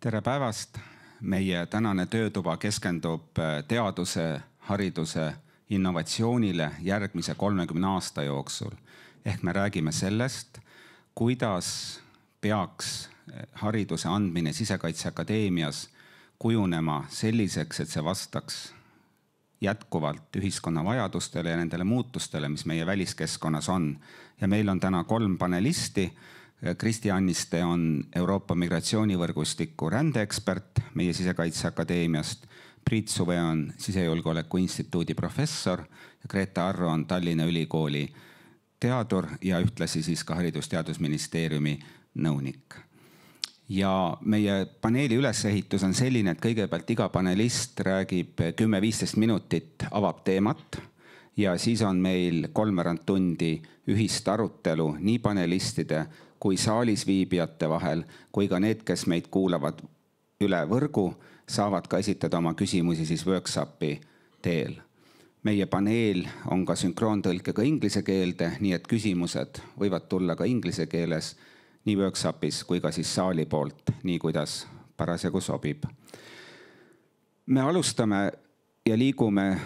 Tere päevast! Meie tänane töötuba keskendub teaduse, hariduse, innovatsioonile järgmise 30 aasta jooksul. Ehk me räägime sellest, kuidas peaks hariduse andmine Sisekaitseakadeemias kujunema selliseks, et see vastaks jätkuvalt ühiskonna vajadustele ja nendele muutustele, mis meie väliskeskkonnas on. Ja meil on täna 3 panelisti. Kristi Anniste on Euroopa migratsioonivõrgustiku rändeekspert meie Sisekaitseakadeemiast. Priit Suve on Sisejulgeoleku Instituudi professor ja Greta Arro on Tallinna Ülikooli teadur ja ühtlasi siis ka Haridus-Teadusministeeriumi nõunik. Ja meie paneeli ülesehitus on selline, et kõigepealt iga panelist räägib 10-15 minutit, avab teemat ja siis on meil 3/4 tundi ühist arutelu nii panelistide kui saalis viibijate vahel, kui ka need, kes meid kuulavad üle võrgu, saavad ka esitada oma küsimusi siis workshopi teel. Meie paneel on ka sünkroontõlkega inglise keelde, nii et küsimused võivad tulla ka inglise keeles nii workshopis kui ka siis saali poolt, nii kuidas parasjagu sobib. Me alustame ja liigume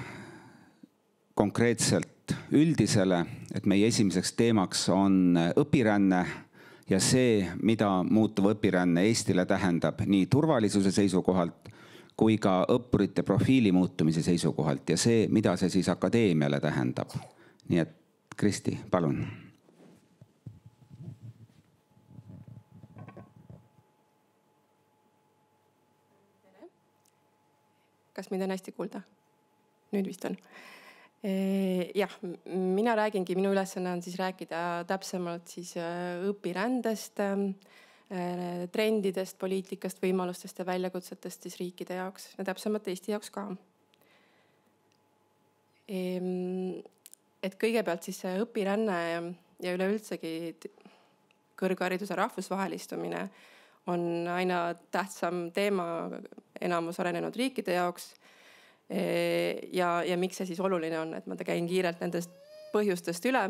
konkreetselt üldisele, et meie esimeseks teemaks on õpiränne ja see, mida muutuv õpiränne Eestile tähendab nii turvalisuse seisukohalt kui ka õppurite profiili muutumise seisukohalt ja see, mida see siis akadeemiale tähendab. Nii et Kristi, palun. Kas mind on hästi kuulda? Nüüd vist on. Jah, mina räägingi, minu ülesanne on siis rääkida täpsemalt siis õpirändest, trendidest, poliitikast, võimalustest ja väljakutsetest siis riikide jaoks ja täpsemalt Eesti jaoks ka. Et kõigepealt siis õpiränne ja üleüldsegi kõrghariduse rahvusvahelistumine on aina tähtsam teema enamus arenenud riikide jaoks. Ja miks see siis oluline on, et ma käin kiirelt nendest põhjustest üle.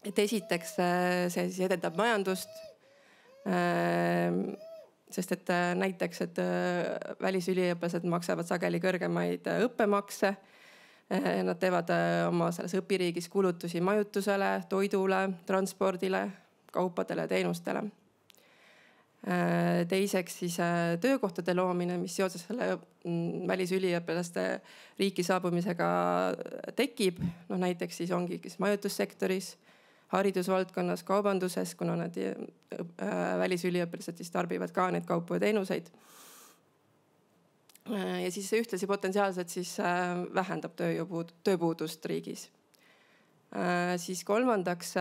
Et esiteks see siis edendab majandust, sest et näiteks, et välisüliõpilased maksavad sageli kõrgemaid õppemakse. Nad teevad oma selles õpiriigis kulutusi majutusele, toidule, transpordile, kaupadele ja teenustele. Teiseks siis töökohtade loomine, mis seoses selle välisüliõpilaste riiki saabumisega tekib. No näiteks siis ongi majutussektoris, haridusvaldkonnas, kaubanduses, kuna nad välisüliõpilased siis tarbivad ka need kaupu ja teenuseid. Ja siis ühtlasi potentsiaalselt siis vähendab tööpuudust riigis. Siis kolmandaks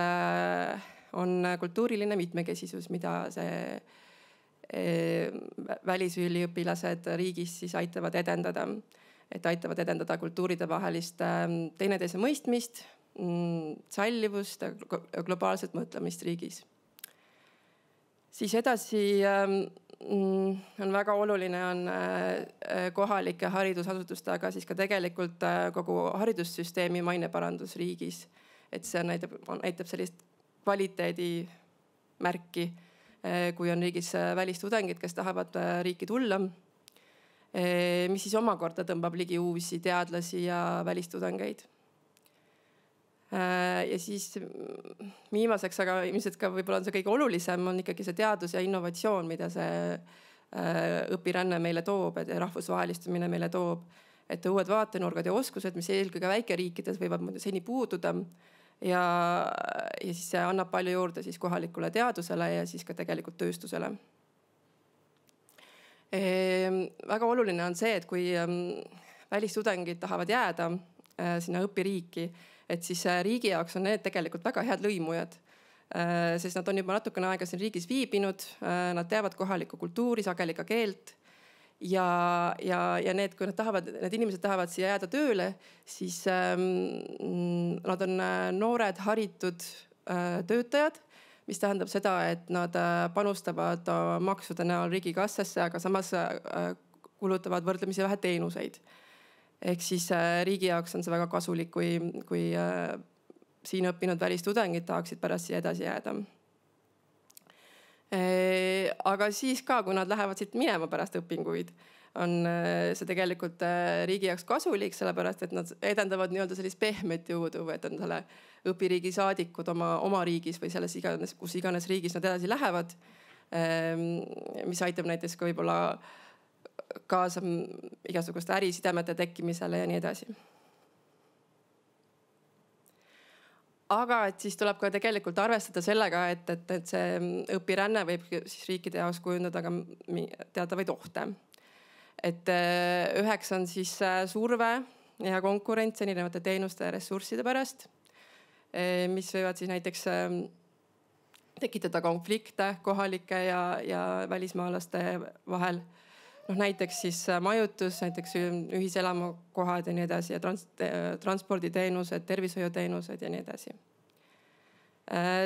on kultuuriline mitmekesisus, mida see välisüliõpilased riigis siis aitavad edendada. Et aitavad edendada kultuuride vahelist teineteise mõistmist, sallivust ja globaalset mõtlemist riigis. Siis edasi on väga oluline on kohalike haridusasutuste, aga siis ka tegelikult kogu haridussüsteemi maineparandus riigis. Et see näitab sellist kvaliteedi märki, kui on riigis välistudengid, kes tahavad riiki tulla, mis siis omakorda tõmbab ligi uusi teadlasi ja välistudengeid. Ja siis viimaseks, aga ilmselt ka võib-olla on see kõige olulisem, on ikkagi see teadus ja innovatsioon, mida see õpiränne meile toob ja rahvusvahelistumine meile toob. Et uued vaatenurgad ja oskused, mis eelkõige väikeriikides võivad seni puududa. Ja siis see annab palju juurde siis kohalikule teadusele ja siis ka tegelikult tööstusele. Väga oluline on see, et kui välistudengid tahavad jääda sinna õpiriiki, et siis riigi jaoks on need tegelikult väga head lõimujad. Sest nad on juba natukene aega siin riigis viibinud, nad teavad kohalikku kultuuri, sageli ka keelt. Ja need, kui need inimesed tahavad siia jääda tööle, siis nad on noored, haritud töötajad, mis tähendab seda, et nad panustavad maksude näol riigikassasse, aga samas kulutavad võrdlemisi vähe teenuseid. Ehk siis riigi jaoks on see väga kasulik, kui siin õppinud välistudengid tahaksid pärast siia edasi jääda. Aga siis ka, kui nad lähevad siit minema pärast õpinguid, on see tegelikult riigi jaoks kasulik, sellepärast et nad edendavad nii-öelda sellist pehmet jõudu, et on selle õpiriigi saadikud oma riigis või selles iganes, kus iganes riigis nad edasi lähevad. Mis aitab näiteks ka võib-olla kaasa igasuguste ärisidemete tekkimisele ja nii edasi. Aga et siis tuleb ka tegelikult arvestada sellega, et see õpiränne võib siis riikide jaoks kujundada ka teatavaid ohte. Et üheks on siis surve ja konkurents erinevate teenuste ja ressursside pärast, mis võivad siis näiteks tekitada konflikte kohalike ja välismaalaste vahel. Näiteks siis majutus, näiteks ühiselamukohad ja nii edasi ja transporditeenused, tervishoiuteenused ja nii edasi.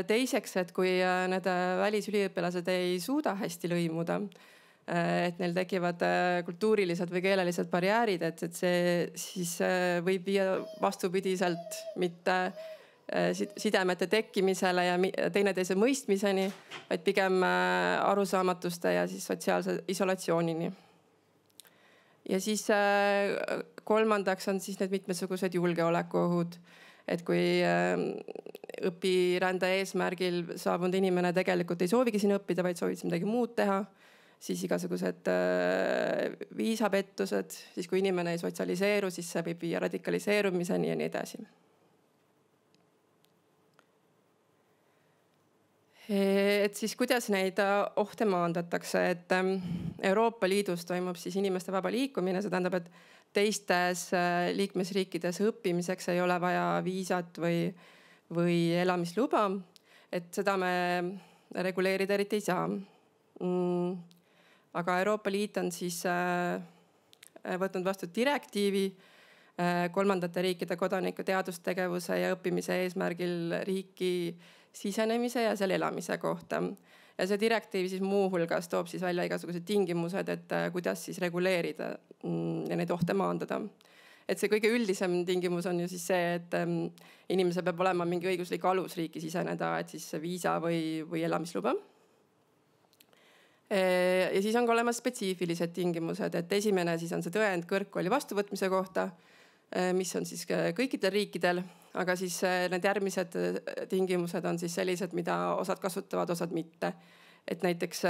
Teiseks, et kui need välisüliõpilased ei suuda hästi lõimuda, et neil tekivad kultuurilised või keelelised barjäärid, et see siis võib viia vastupidiselt mitte sidemete tekkimisele ja teineteise mõistmiseni, vaid pigem arusaamatuste ja siis sotsiaalse isolatsioonini. Ja siis kolmandaks on siis need mitmesugused julgeolekuohud. Et kui õpirände eesmärgil saabunud inimene tegelikult ei soovigi siin õppida, vaid soovib midagi muud teha, siis igasugused viisapettused, siis kui inimene ei sotsialiseeru, siis see võib viia radikaliseerumiseni ja nii edasi. Et siis kuidas neid ohte maandatakse, et Euroopa Liidus toimub siis inimeste vaba liikumine, see tähendab, et teistes liikmesriikides õppimiseks ei ole vaja viisat või elamisluba, et seda me reguleerida eriti ei saa. Aga Euroopa Liit on siis võtnud vastu direktiivi kolmandate riikide kodaniku teadustegevuse ja õppimise eesmärgil riiki sisenemise ja seal elamise kohta. Ja see direktiiv siis muuhulgas toob siis välja igasugused tingimused, et kuidas siis reguleerida ja neid ohte maandada. Et see kõige üldisem tingimus on ju siis see, et inimesel peab olema mingi õiguslik alus riiki siseneda, et siis viisa või elamisluba. Ja siis on ka olemas spetsiifilised tingimused, et esimene siis on see tõend kõrgkooli vastuvõtmise kohta, mis on siis kõikidel riikidel, aga siis need järgmised tingimused on siis sellised, mida osad kasutavad, osad mitte. Et näiteks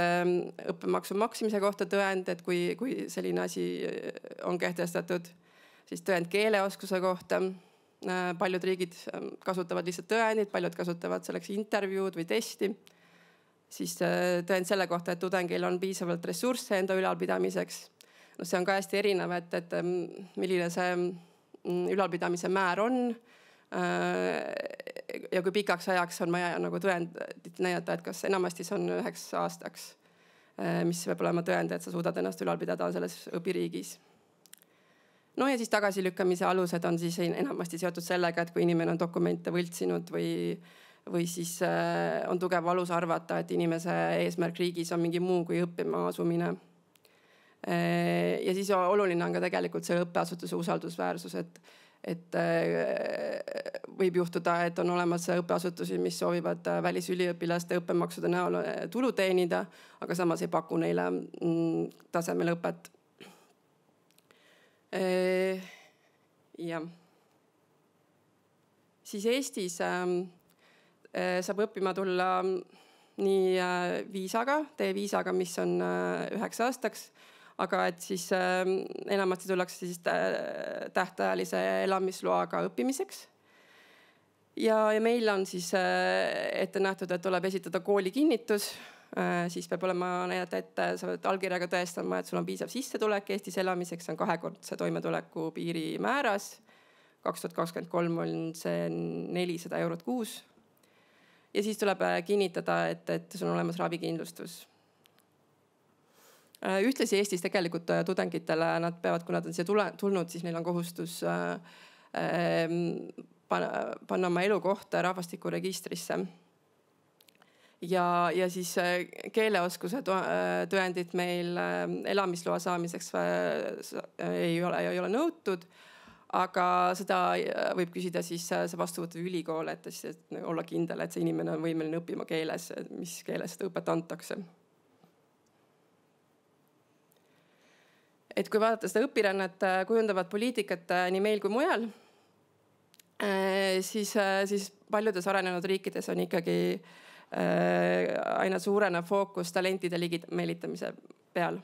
õppemaksu maksimise kohta tõend, et kui selline asi on kehtestatud, siis tõend keeleoskuse kohta. Paljud riigid kasutavad lihtsalt tõendid, paljud kasutavad selleks intervjuud või testi. Siis tõend selle kohta, et tudengil on piisavalt ressursse enda ülalpidamiseks. See on ka hästi erinev, et milline see ülalpidamise määr on ja kui pikaks ajaks on vaja nagu tõendit näidata, et kas enamasti see on 1 aastaks, mis peab olema tõend, et sa suudad ennast ülal pidada selles õpiriigis. No ja siis tagasilükkamise alused on siis enamasti seotud sellega, et kui inimene on dokumente võltsinud või siis on tugev alus arvata, et inimese eesmärk riigis on mingi muu kui õppima asumine. Ja siis oluline on ka tegelikult see õppeasutuse usaldusväärsus, et võib juhtuda, et on olemas õppeasutusi, mis soovivad välisüliõpilaste õppemaksude näol tulu teenida, aga samas ei paku neile tasemel õpet. Ja. Siis Eestis saab õppima tulla nii viisaga, D-viisaga, mis on 9 aastaks, aga et siis enamasti tullakse siis tähtajalise elamisloaga õppimiseks. Ja meil on siis ette nähtud, et tuleb esitada koolikinnitus, siis peab olema näidata ette, sa pead allkirjaga tõestama, et sul on piisav sissetulek Eestis elamiseks, see on 2-kordse toimetuleku piiri määras. 2023 on see 400 eurot kuus. Ja siis tuleb kinnitada, et sul on olemas ravikindlustus. Ühtlasi Eestis tegelikult tudengitele nad peavad, kui nad on siia tulnud, siis neil on kohustus panna oma elukoht rahvastikuregistrisse. Ja siis keeleoskuse tõendid meil elamisloa saamiseks ei ole nõutud, aga seda võib küsida siis see vastuvõttev ülikool, et siis olla kindel, et see inimene on võimeline õppima keeles, mis keeles seda õpet antakse. Et kui vaadata seda õpirännet kujundavat poliitikat nii meil kui mujal, siis paljudes arenenud riikides on ikkagi aina suurenev fookus talentide ligi meelitamise peal.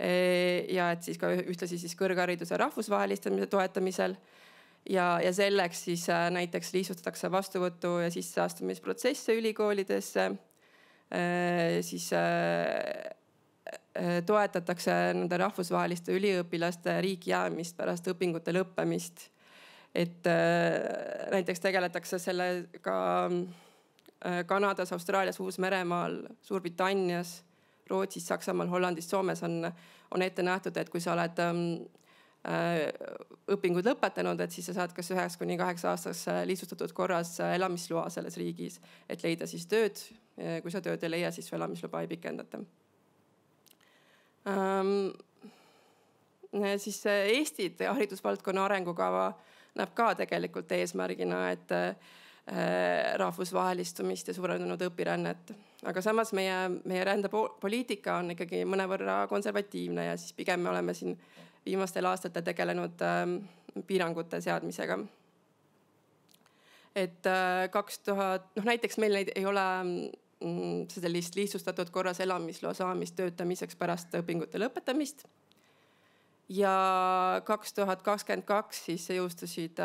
Ja et siis ka ühtlasi siis kõrghariduse rahvusvahelistamise toetamisel ja selleks siis näiteks lihtsustatakse vastuvõtu ja sisseastumisprotsesse ülikoolidesse, siis toetatakse nende rahvusvaheliste üliõpilaste riiki jäämist pärast õpingute lõppemist. Et näiteks tegeletakse sellega Kanadas, Austraalias, Uus-Meremaal, Suurbritannias, Rootsis, Saksamaal, Hollandis, Soomes on ette nähtud, et kui sa oled õpingud lõpetanud, et siis sa saad kas 9–8 aastaks lihtsustatud korras elamisloa selles riigis, et leida siis tööd. Kui sa tööd ei leia, siis su elamisluba ei pikendata. Siis Eesti haridusvaldkonna arengukava näeb ka tegelikult eesmärgina, et rahvusvahelistumist ja suurenenud õpirännet. Aga samas meie rändepoliitika on ikkagi mõnevõrra konservatiivne ja siis pigem me oleme siin viimastel aastatel tegelenud piirangute seadmisega. Et 2000, näiteks meil ei ole sellist lihtsustatud korras elamisloa saamist töötamiseks pärast õpingute lõpetamist. Ja 2022 siis jõustusid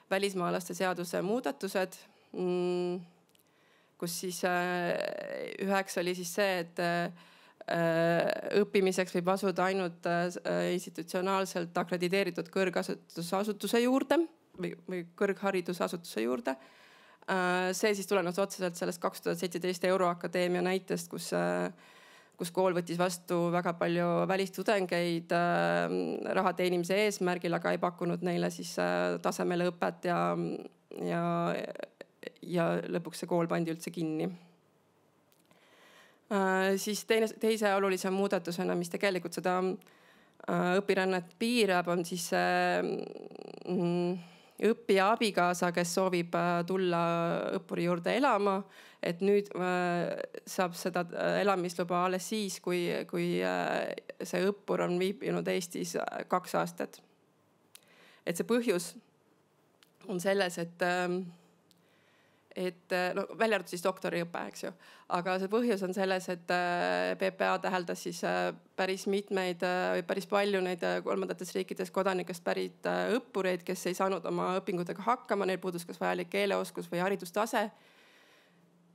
välismaalaste seaduse muudatused, kus siis üheks oli siis see, et õppimiseks võib asuda ainult institutsionaalselt akrediteeritud kõrgharidusasutuse juurde või kõrgharidusasutuse juurde. See siis tulenes otseselt sellest 2017 Euroakadeemia näitest, kus kool võttis vastu väga palju välistudengeid raha teenimise eesmärgil, aga ei pakkunud neile siis tasemele õpet ja lõpuks see kool pandi üldse kinni. Siis teise olulise muudatusena, mis tegelikult seda õpirännet piirab, on siis õppija abikaasa, kes soovib tulla õppuri juurde elama. Et nüüd saab seda elamisluba alles siis, kui see õppur on viibinud Eestis 2 aastat. Et see põhjus on selles, et välja arvatud siis doktoriõpe, eks ju. Aga see põhjus on selles, et PPA täheldas siis päris mitmeid või päris palju neid kolmandates riikides kodanikest pärit õppureid, kes ei saanud oma õpingutega hakkama, neil puudus kas vajalik keeleoskus või haridustase.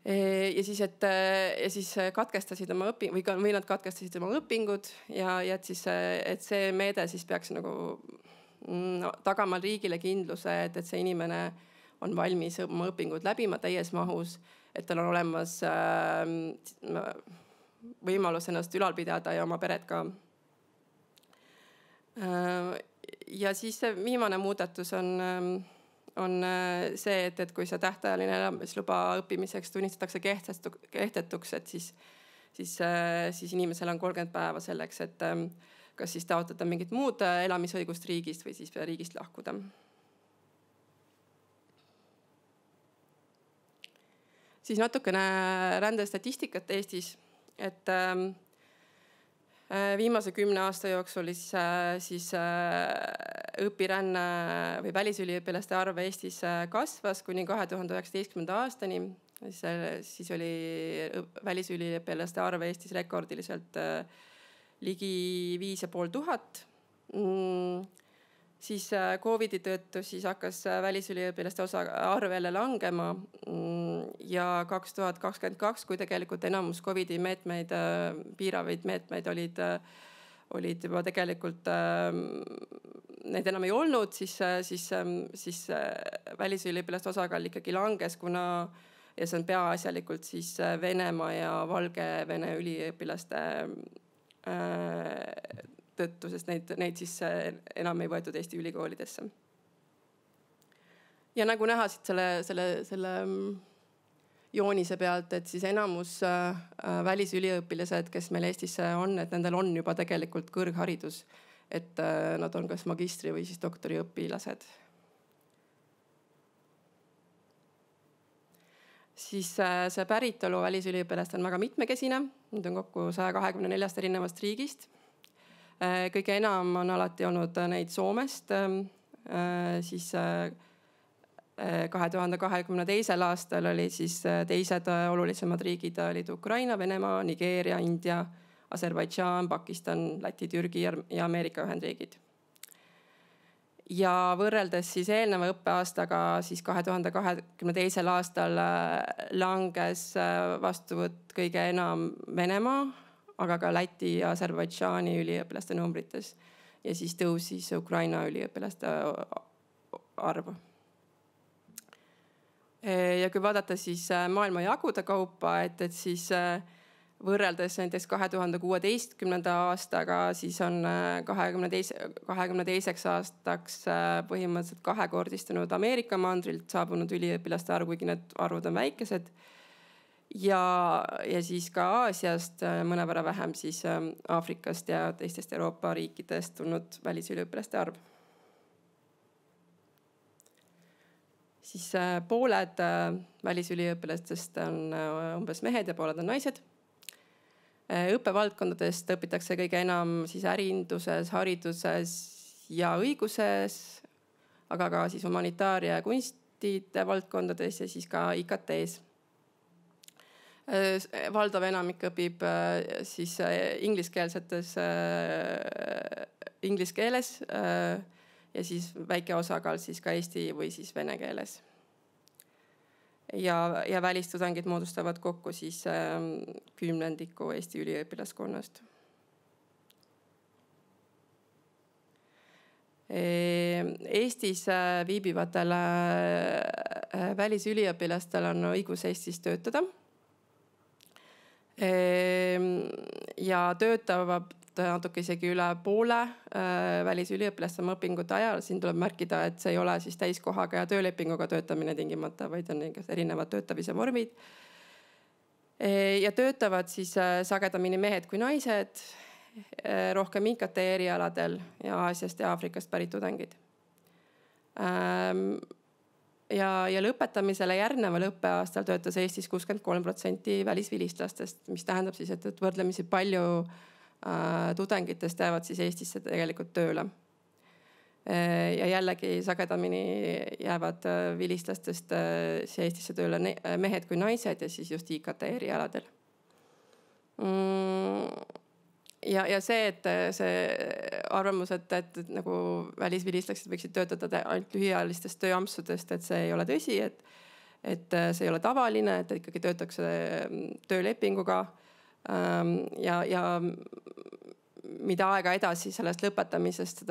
Ja siis katkestasid oma või nad katkestasid oma õpingud ja et see meede siis peaks nagu tagama riigile kindluse, et see inimene on valmis oma õpingud läbima täies mahus, et tal on olemas võimalus ennast ülal pidada ja oma peret ka. Ja siis see viimane muudatus on see, et kui see tähtajaline elamisluba õppimiseks tunnistatakse kehtetuks, et siis inimesel on 30 päeva selleks, et kas siis taotleda mingit muud elamisõigust riigist või siis riigist lahkuda. Siis natukene rändestatistikat Eestis, et viimase 10 aasta jooksul siis õpiränne või välisüliõpilaste arv Eestis kasvas kuni 2019. aastani. Siis oli välisüliõpilaste arv Eestis rekordiliselt ligi 5500. Siis COVIDi tõttu siis hakkas välisüliõpilaste arv jälle langema ja 2022, kui tegelikult enamus COVIDi meetmeid, piiravaid meetmeid olid juba tegelikult, neid enam ei olnud, siis välisüliõpilaste osakaal ikkagi langes, ja see on peaasjalikult siis Venemaa ja Valgevene üliõpilaste tõttu, sest neid siis enam ei võetud Eesti ülikoolidesse. Ja nagu näha siit selle joonise pealt, et siis enamus välisüliõpilased, kes meil Eestis on, et nendel on juba tegelikult kõrgharidus. et nad on kas magistri või siis doktoriõpilased. Siis see päritolu välisüliõpilast on väga mitmekesine. Nüüd on kokku 124 erinevast riigist. Kõige enam on alati olnud neid Soomest. Siis 2022. aastal oli siis teised olulisemad riigid olid Ukraina, Venemaa, Nigeeria, India, Aserbaidžaan, Pakistan, Läti, Türgi ja Ameerika Ühendriigid. Ja võrreldes siis eelneva õppeaastaga siis 2022. aastal langes vastuvõtt kõige enam Venemaa, aga ka Läti ja Aserbaidžaani üliõpilaste numbrites. Ja siis tõusis Ukraina üliõpilaste arv. Ja kui vaadata siis maailma jagude kaupa, et siis võrreldes näiteks 2016. aastaga, siis on 2022. aastaks põhimõtteliselt kahekordistunud Ameerika mandrilt saabunud üliõpilaste arv, kuigi need arvud on väikesed. Ja siis ka Aasiast mõnevõrra vähem siis Aafrikast ja teistest Euroopa riikidest tulnud välisüliõpilaste arv. Siis pooled välisüliõpilastest on umbes mehed ja pooled on naised. Õppevaldkondadest õpitakse kõige enam siis ärinduses, hariduses ja õiguses, aga ka siis humanitaaria ja kunstide valdkondades ja siis ka IKT-s. Valdav enamik õpib siis ingliskeelsetes inglise keeles ja siis väike osakaal siis ka eesti või siis vene keeles. Ja välistudengid moodustavad kokku siis 10% Eesti üliõpilaskonnast. Eestis viibivatel välisüliõpilastel on õigus Eestis töötada. Ja töötavad natuke isegi üle poole välisüliõpilaste oma õpingute ajal. Siin tuleb märkida, et see ei ole siis täiskohaga ja töölepinguga töötamine tingimata, vaid on erinevad töötamise vormid. Ja töötavad siis sagedamini mehed kui naised, rohkem IKT erialadel ja Aasiast ja Aafrikast pärit tudengid. Ja lõpetamisele järgneval õppeaastal töötas Eestis 63% välisvilistlastest, mis tähendab siis, et võrdlemisi palju tudengitest jäävad siis Eestisse tegelikult tööle. Ja jällegi sagedamini jäävad vilistlastest Eestisse tööle mehed kui naised ja siis just IKT erialadel. Ja see, et see arvamus, et nagu välisvilistlased võiksid töötada ainult lühiajalistest tööampsudest, et see ei ole tõsi, et see ei ole tavaline, et ikkagi töötakse töölepinguga. Ja mida aega edasi sellest lõpetamisest,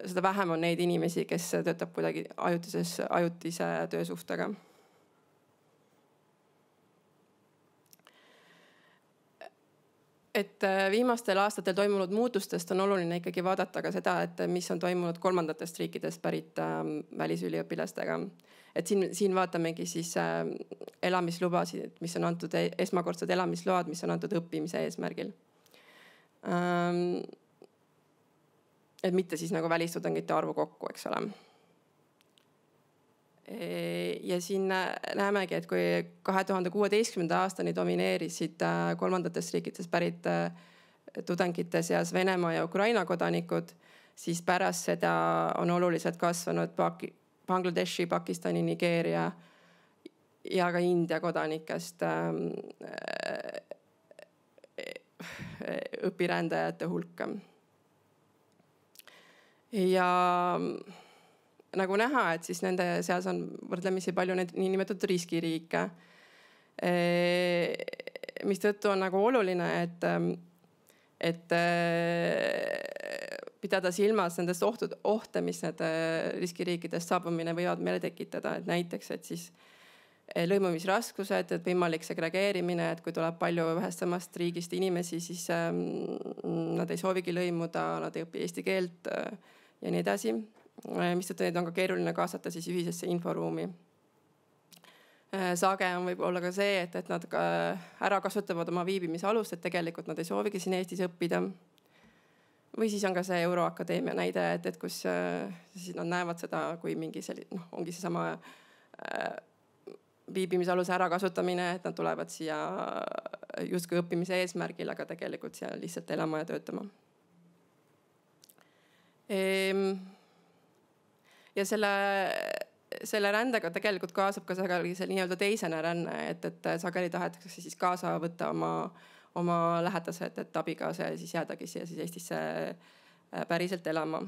seda vähem on neid inimesi, kes töötab kuidagi ajutise töösuhtega. Et viimastel aastatel toimunud muutustest on oluline ikkagi vaadata ka seda, et mis on toimunud kolmandatest riikidest pärit välisüliõpilastega. Et siin vaatamegi siis elamislubasid, mis on antud esmakordsed elamisload, mis on antud õppimise eesmärgil. Et mitte siis nagu välistudengite arvu kokku, eks ole. Ja siin näemegi, et kui 2016. aastani domineerisid kolmandatest riikidest pärit tudengite seas Venemaa ja Ukraina kodanikud, siis pärast seda on oluliselt kasvanud Bangladeshi, Pakistani, Nigeeria ja ka India kodanikest õpirändajate hulka. Ja nagu näha, et siis nende seas on võrdlemisi palju need niinimetatud riskiriike, mis tõttu on nagu oluline, et pidada silmas nendest ohte, mis need riskiriikidest saabumine võivad meile tekitada. Et näiteks, et siis lõimumisraskused, et võimalik segregeerimine, et kui tuleb palju ühest samast riigist inimesi, siis nad ei soovigi lõimuda, nad ei õpi eesti keelt ja nii edasi. Mistõttu neid on ka keeruline kaasata siis ühisesse inforuumi. Sage on võib olla ka see, et nad ära kasutavad oma viibimisalust, et tegelikult nad ei soovigi siin Eestis õppida. Või siis on ka see Euroakadeemia näide, et kus siis nad näevad seda kui mingi selline, ongi seesama viibimisaluse ärakasutamine, et nad tulevad siia justkui õppimise eesmärgil, aga tegelikult siia lihtsalt elama ja töötama. Ja selle rändega tegelikult kaasab ka sageli see nii-öelda teisene ränne, et sageli tahetakse siis kaasa võtta oma lähedased, et abikaasa ja siis jäädagi siia siis Eestisse päriselt elama.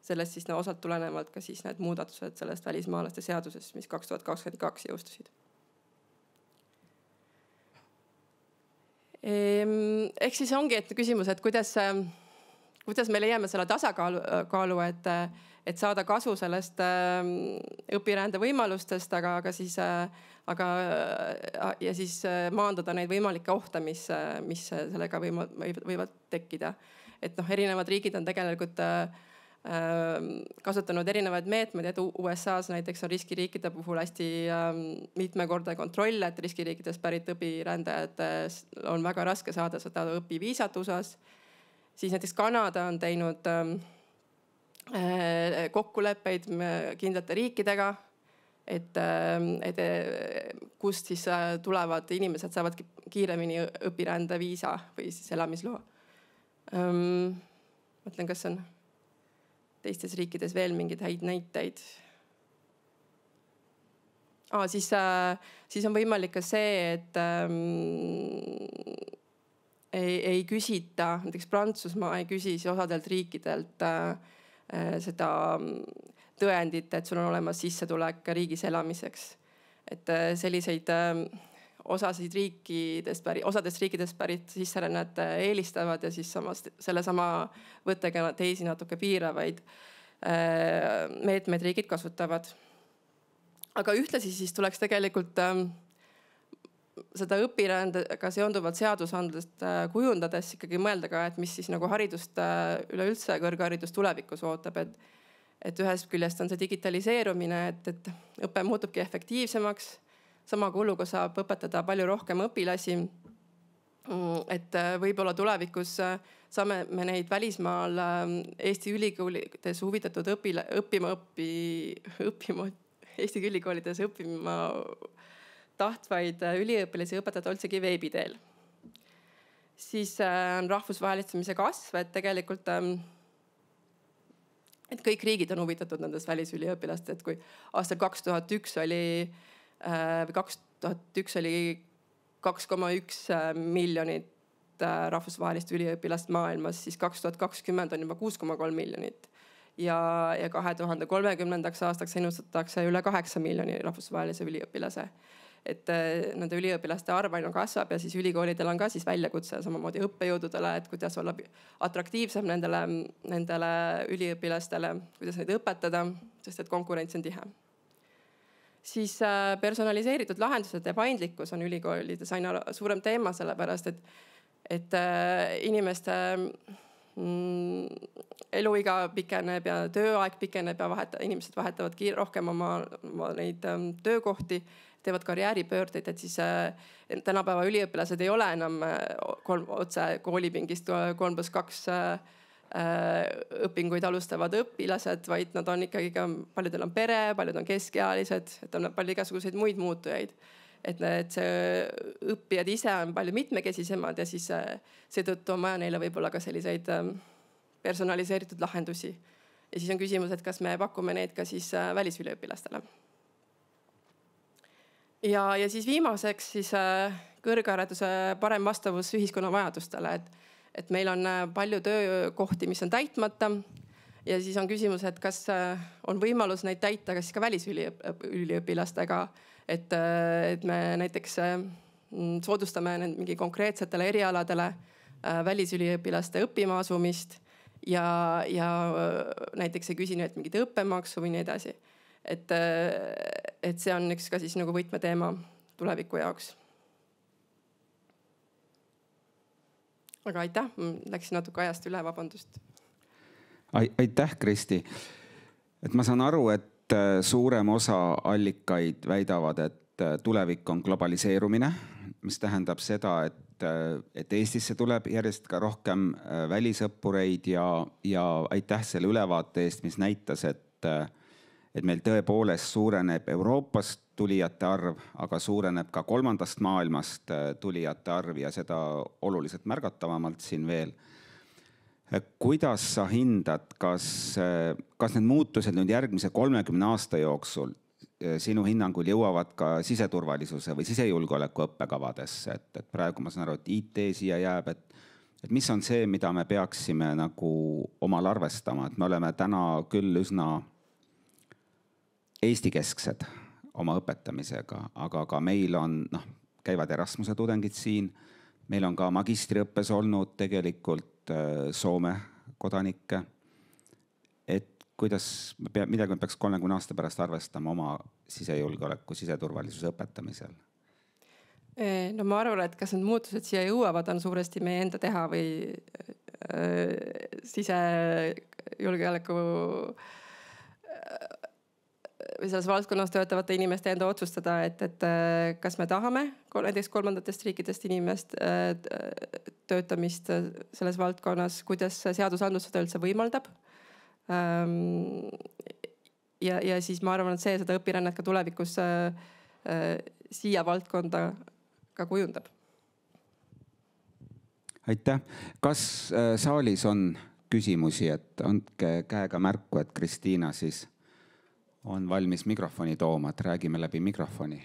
Sellest siis osalt tulenevalt ka siis need muudatused sellest välismaalaste seadusest, mis 2022 jõustusid. Ehk siis ongi küsimus, et kuidas me leiame selle tasakaalu, et saada kasu sellest õpirände võimalustest, aga siis maandada neid võimalikke ohte, mis sellega võivad tekkida. Et erinevad riigid on tegelikult kasutanud erinevaid meetmeid, et USA's näiteks on riskiriikide puhul hästi mitmekordne kontroll, et riskiriikidest pärit õpirändajad on väga raske saada seda õpiviisat USA's. Siis näiteks Kanada on teinud kokkuleppeid kindlate riikidega, et kust siis tulevad inimesed saavad kiiremini õpirände viisa või siis elamisloa. Mõtlen, kas on teistes riikides veel mingeid häid näiteid. Siis on võimalik ka see, et ei küsita, näiteks Prantsusmaa ei küsi osadelt riikidelt seda tõendit, et sul on olemas sissetulek riigis elamiseks. Et selliseid osades riikidest pärit sisserännet eelistavad ja siis sellesama võttega teisi natuke piiravaid meetmeid riigid kasutavad. Aga ühtlasi siis tuleks tegelikult seda õpirändega seonduvat seadusandlust kujundades ikkagi mõelda ka, et mis siis nagu haridust üleüldse kõrgharidust tulevikus ootab. Et ühest küljest on see digitaliseerumine, et õpe muutubki efektiivsemaks. Sama kuluga saab õpetada palju rohkem õpilasi. Et võib-olla tulevikus saame me neid välismaal Eesti ülikoolides huvitatud Eesti ülikoolides õppima tahtvaid üliõpilasi õpetada üldsegi veebi teel. Siis on rahvusvahelistumise kasv, et tegelikult et kõik riigid on huvitatud nendest välisüliõpilast, et kui aastal 2001 oli 2,1 miljonit rahvusvahelist üliõpilast maailmas, siis 2020 on juba 6,3 miljonit. Ja 2030. aastaks ennustatakse üle 8 miljoni rahvusvahelise üliõpilase. Et nende üliõpilaste arv aina kasvab ja siis ülikoolidel on ka siis väljakutse samamoodi õppejõududele, et kuidas olla atraktiivsem nendele üliõpilastele, kuidas neid õpetada, sest et konkurents on tihe. Siis personaliseeritud lahendused ja paindlikkus on ülikoolides aina suurem teema, sellepärast et inimeste eluiga pikeneb ja tööaeg pikeneb ja inimesed vahetavad rohkem oma neid töökohti, teevad karjääripöördeid, et siis tänapäeva üliõpilased ei ole enam otse koolipingist 3+2 õpinguid alustavad õpilased, vaid nad on ikkagi ka, paljudel on pere, paljud on keskealised, et on palju igasuguseid muid muutujaid. Et see õppijad ise on palju mitmekesisemad ja siis seetõttu on vaja neile võib-olla ka selliseid personaliseeritud lahendusi. Ja siis on küsimus, et kas me pakume neid ka siis välisüliõpilastele. Ja siis viimaseks siis kõrghariduse parem vastavus ühiskonna vajadustele, et meil on palju töökohti, mis on täitmata ja siis on küsimus, et kas on võimalus neid täita ka siis ka välisüliõpilastega, et me näiteks soodustame mingi konkreetsetele erialadele välisüliõpilaste õppima asumist ja näiteks ei küsi nüüd mingit õppemaksu või nii edasi. Et see on üks ka siis nagu võtmeteema tuleviku jaoks. Aga aitäh, läksin natuke ajast üle, vabandust. Aitäh, Kristi. Et ma saan aru, et suurem osa allikaid väidavad, et tulevik on globaliseerumine, mis tähendab seda, et et Eestisse tuleb järjest ka rohkem välisõppureid ja aitäh selle ülevaate eest, mis näitas, et meil tõepoolest suureneb Euroopast tulijate arv, aga suureneb ka kolmandast maailmast tulijate arv ja seda oluliselt märgatavamalt siin veel. Kuidas sa hindad, kas need muutused nüüd järgmise 30 aasta jooksul sinu hinnangul jõuavad ka siseturvalisuse või sisejulgeoleku õppekavadesse, et praegu ma saan aru, et IT siia jääb, et mis on see, mida me peaksime nagu omal arvestama, et me oleme täna küll üsna Eesti-kesksed oma õpetamisega, aga ka meil on, käivad Erasmuse tudengid siin, meil on ka magistriõppes olnud tegelikult Soome kodanikke, et midagi me peaks 30 aasta pärast arvestama oma sisejulgeoleku, siseturvalisuse õpetamisel? No ma arvan, et kas need muutused siia jõuavad, on suuresti meie enda teha või sisejulgeoleku või selles valdkonnas töötavate inimeste enda otsustada, et kas me tahame näiteks kolmandatest riikidest inimest töötamist selles valdkonnas, kuidas seadusandlus seda üldse võimaldab. Ja siis ma arvan, et seda õpirännet ka tulevikus siia valdkonda ka kujundab. Aitäh. Kas saalis on küsimusi, et andke käega märku, et Kristiina siis on valmis mikrofoni tooma, et räägime läbi mikrofoni.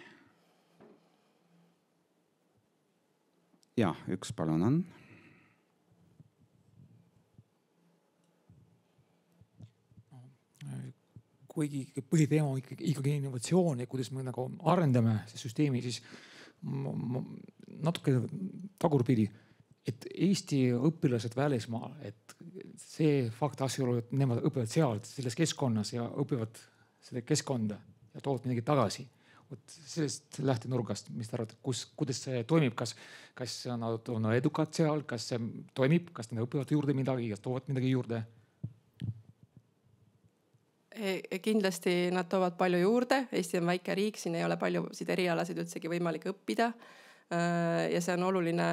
Ja, üks palun on. Kuigi põhiteema on ikkagi innovatsioon ja kuidas me nagu arendame see süsteemi, siis natuke tagurpidi, et Eesti õpilased välismaal, et see fakt asjaolu, et nemad õpivad seal selles keskkonnas ja õpivad seda keskkonda ja toovad midagi tagasi. Sellest lähtenurgast, mis te arvate, kuidas see toimib, kas nad on edukad seal, kas see toimib, kas nad õpivad juurde midagi, kas toovad midagi juurde? Kindlasti nad toovad palju juurde. Eesti on väike riik, siin ei ole paljusid erialasid üldsegi võimalik õppida. Ja see on oluline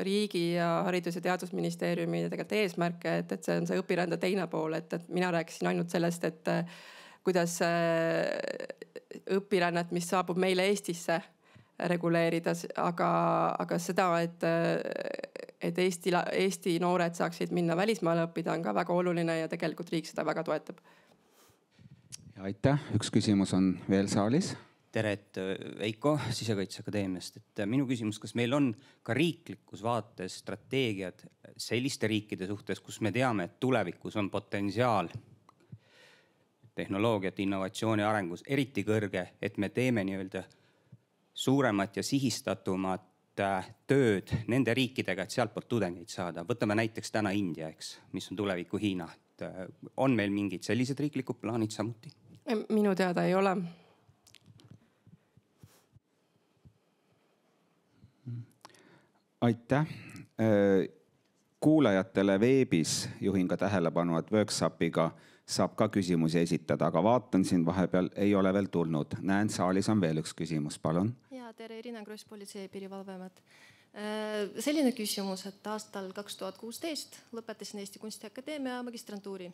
riigi ja Haridus- ja Teadusministeeriumi tegelikult eesmärke, et see on see õpirände teine pool, et mina rääkisin ainult sellest, et kuidas õpirännet, mis saabub meile Eestisse reguleerida, aga seda, et Eesti noored saaksid minna välismaale õppida, on ka väga oluline ja tegelikult riik seda väga toetab. Ja aitäh. Üks küsimus on veel saalis. Tere, et Veiko Sisekaitseakadeemiast. Et minu küsimus, kas meil on ka riiklikus vaates strateegiad selliste riikide suhtes, kus me teame, et tulevikus on potentsiaal tehnoloogiat, innovatsiooni arengus eriti kõrge, et me teeme nii-öelda suuremat ja sihistatumat tööd nende riikidega, et sealt poolt tudengeid saada. Võtame näiteks täna India, mis on tuleviku Hiina. On meil mingid sellised riiklikud plaanid samuti? Minu teada ei ole. Aitäh. Kuulajatele veebis juhin ka tähelepanu, et workshopiga saab ka küsimusi esitada, aga vaatan siin vahepeal ei ole veel tulnud. Näen, saalis on veel üks küsimus, palun. Ja, tere, Irina Kross, Politsei- ja Piirivalveamet. Selline küsimus, et aastal 2016 lõpetasin Eesti Kunstiakadeemia magistrantuuri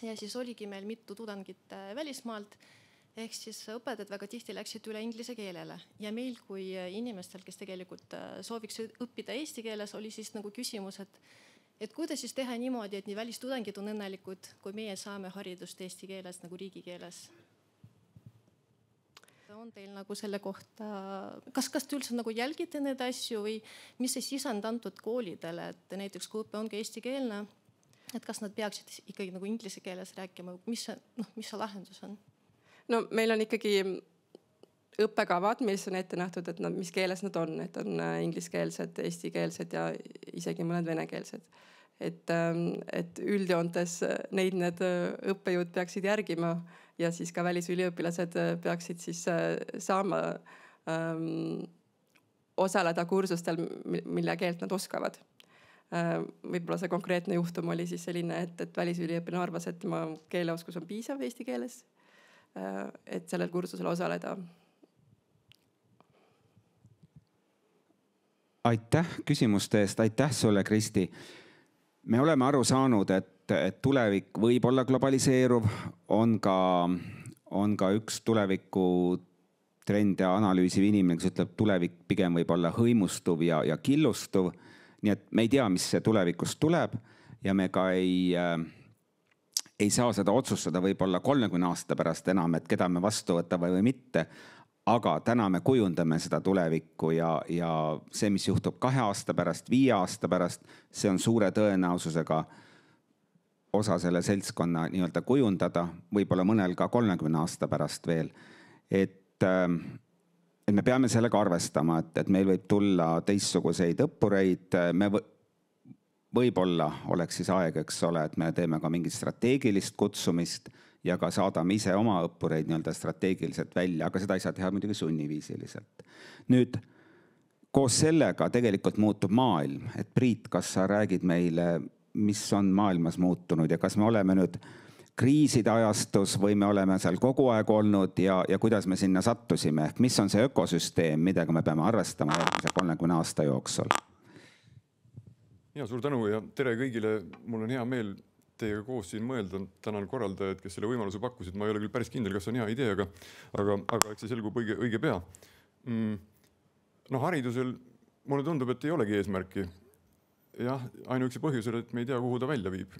ja siis oligi meil mitu tudengit välismaalt, ehk siis õpetajad väga tihti läksid üle inglise keelele ja meil kui inimestel, kes tegelikult sooviks õppida eesti keeles, oli siis nagu küsimus, et kuidas siis teha niimoodi, et nii välistudengid on õnnelikud, kui meie saame haridust eesti keeles nagu riigikeeles. On teil nagu selle kohta, kas te üldse nagu jälgite need asju või mis see sisend antud koolidele, et näiteks kui õpe ongi eestikeelne, et kas nad peaksid ikkagi nagu inglise keeles rääkima, mis see lahendus on? No meil on ikkagi õppekavad, mis on ette nähtud, et mis keeles nad on, et on ingliskeelsed, eestikeelsed ja isegi mõned venekeelsed. Et üldjoontes need õppejõud peaksid järgima ja siis ka välisüliõpilased peaksid siis saama osaleda kursustel, mille keelt nad oskavad. Võib-olla see konkreetne juhtum oli siis selline, et välisüliõpilane arvas, et tema keeleoskus on piisav eesti keeles, et sellel kursusel osaleda. Aitäh küsimuste eest, aitäh sulle, Kristi. Me oleme aru saanud, et tulevik võib olla globaliseeruv, on ka üks tuleviku trend ja analüüsiv inimene, kes ütleb, tulevik pigem võib olla hõimustuv ja killustuv. Nii et me ei tea, mis see tulevikus tuleb ja me ka ei saa seda otsustada võib-olla 30 aasta pärast enam, et keda me vastu võtame või mitte. Aga täna me kujundame seda tulevikku ja see, mis juhtub 2 aasta pärast, 5 aasta pärast, see on suure tõenäosusega osa selle seltskonna nii-öelda kujundada, võib-olla mõnel ka 30 aasta pärast veel. Et me peame sellega arvestama, et meil võib tulla teistsuguseid õppureid. Võib-olla oleks siis aeg, eks ole, et me teeme ka mingit strateegilist kutsumist ja ka saadame ise oma õppureid nii-öelda strateegiliselt välja, aga seda ei saa teha muidugi sunniviisiliselt. Nüüd, koos sellega tegelikult muutub maailm. Et Priit, kas sa räägid meile, mis on maailmas muutunud ja kas me oleme nüüd kriiside ajastus või me oleme seal kogu aeg olnud ja kuidas me sinna sattusime? Ehk mis on see ökosüsteem, millega me peame arvestama järgmise 30 aasta jooksul? Ja, suur tänu ja tere kõigile. Mul on hea meel teiega koos siin mõelda. Tänan korraldajad, kes selle võimaluse pakkusid. Ma ei ole küll päris kindel, kas on hea idee, aga eks see selgub õige pea. Haridusel mulle tundub, et ei olegi eesmärki. Jah, ainuüksi põhjusel, et me ei tea, kuhu ta välja viib.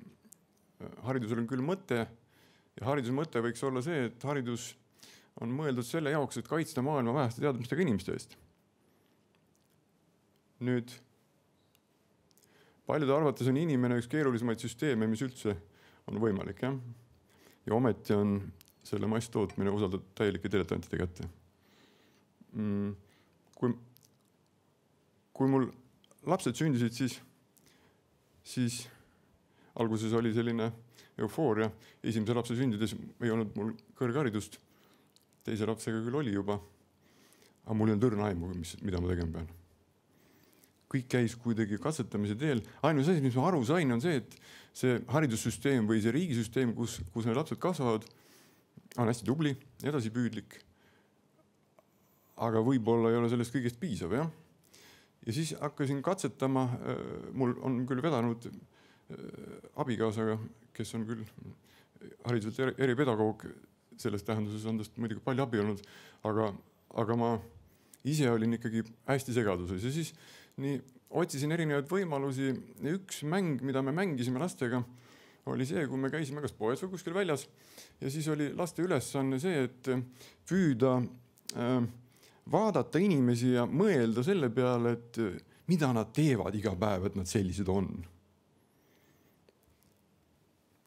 Haridusel on küll mõte ja hariduse mõte võiks olla see, et haridus on mõeldud selle jaoks, et kaitsta maailma väheste teadmistega inimeste eest. Nüüd, paljude arvates on inimene üks keerulisemaid süsteeme, mis üldse on võimalik. Ja ometi on selle masstootmine usaldatud täielike diletantide kätte. Kui mul lapsed sündisid, siis alguses oli selline eufooria. Esimese lapse sündides ei olnud mul kõrgharidust. Teise lapsega küll oli juba. Aga mul ei olnud õrna aimu, mida ma tegema pean. Kõik käis kuidagi katsetamise teel. Ainus asi, mis ma aru sain, on see, et see haridussüsteem või see riigisüsteem, kus need lapsed kasvavad, on hästi tubli, edasipüüdlik. Aga võib-olla ei ole sellest kõigest piisav. Ja siis hakkasin katsetama. Mul on küll vedanud abikaasaga, kes on küll hariduselt eripedagoog, selles tähenduses on tast muidugi palju abi olnud, aga ma ise olin ikkagi hästi segaduses ja siis otsisin erinevaid võimalusi. Üks mäng, mida me mängisime lastega, oli see, kui me käisime kas poes või kuskil väljas ja siis oli laste ülesanne see, et püüda vaadata inimesi ja mõelda selle peale, et mida nad teevad iga päev, et nad sellised on.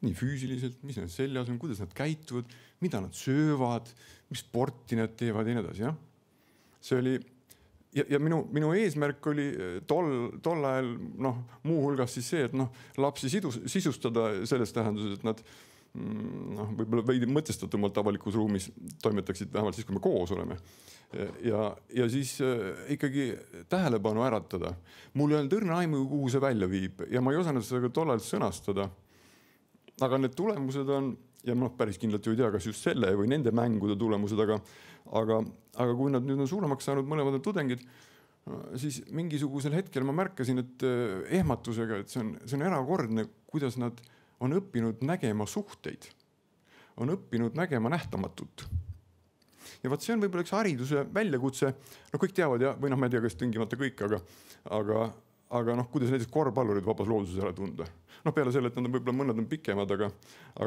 Nii füüsiliselt, mis nad seljas on, kuidas nad käituvad, mida nad söövad, mis sporti nad teevad ja nii edasi. See oli, ja minu eesmärk oli tol ajal muuhulgas siis see, et lapsi sisustada selles tähenduses, et nad võib-olla veidi mõtestatumalt avalikus ruumis toimetaksid vähemalt siis, kui me koos oleme. Ja siis ikkagi tähelepanu äratada. Mul ei olnud õrna aimu, kuhu see välja viib ja ma ei osanud seda ka tol ajal sõnastada. Aga need tulemused on, ja päris kindlalt ju ei tea, kas just selle või nende mängude tulemused, aga kui nad nüüd on suuremaks saanud mõlemad tudengid, siis mingisugusel hetkel ma märkasin, et ehmatusega, et see on erakordne, kuidas nad on õppinud nägema suhteid, on õppinud nägema nähtamatut. Ja vaat see on võib-olla üks hariduse väljakutse, kõik teavad ja, või ma ei tea, kas tingimata kõik, aga kuidas näiteks korvpallurid vabas looduses ära tunda. Peale selle, et nad on võib-olla mõned on pikemad, aga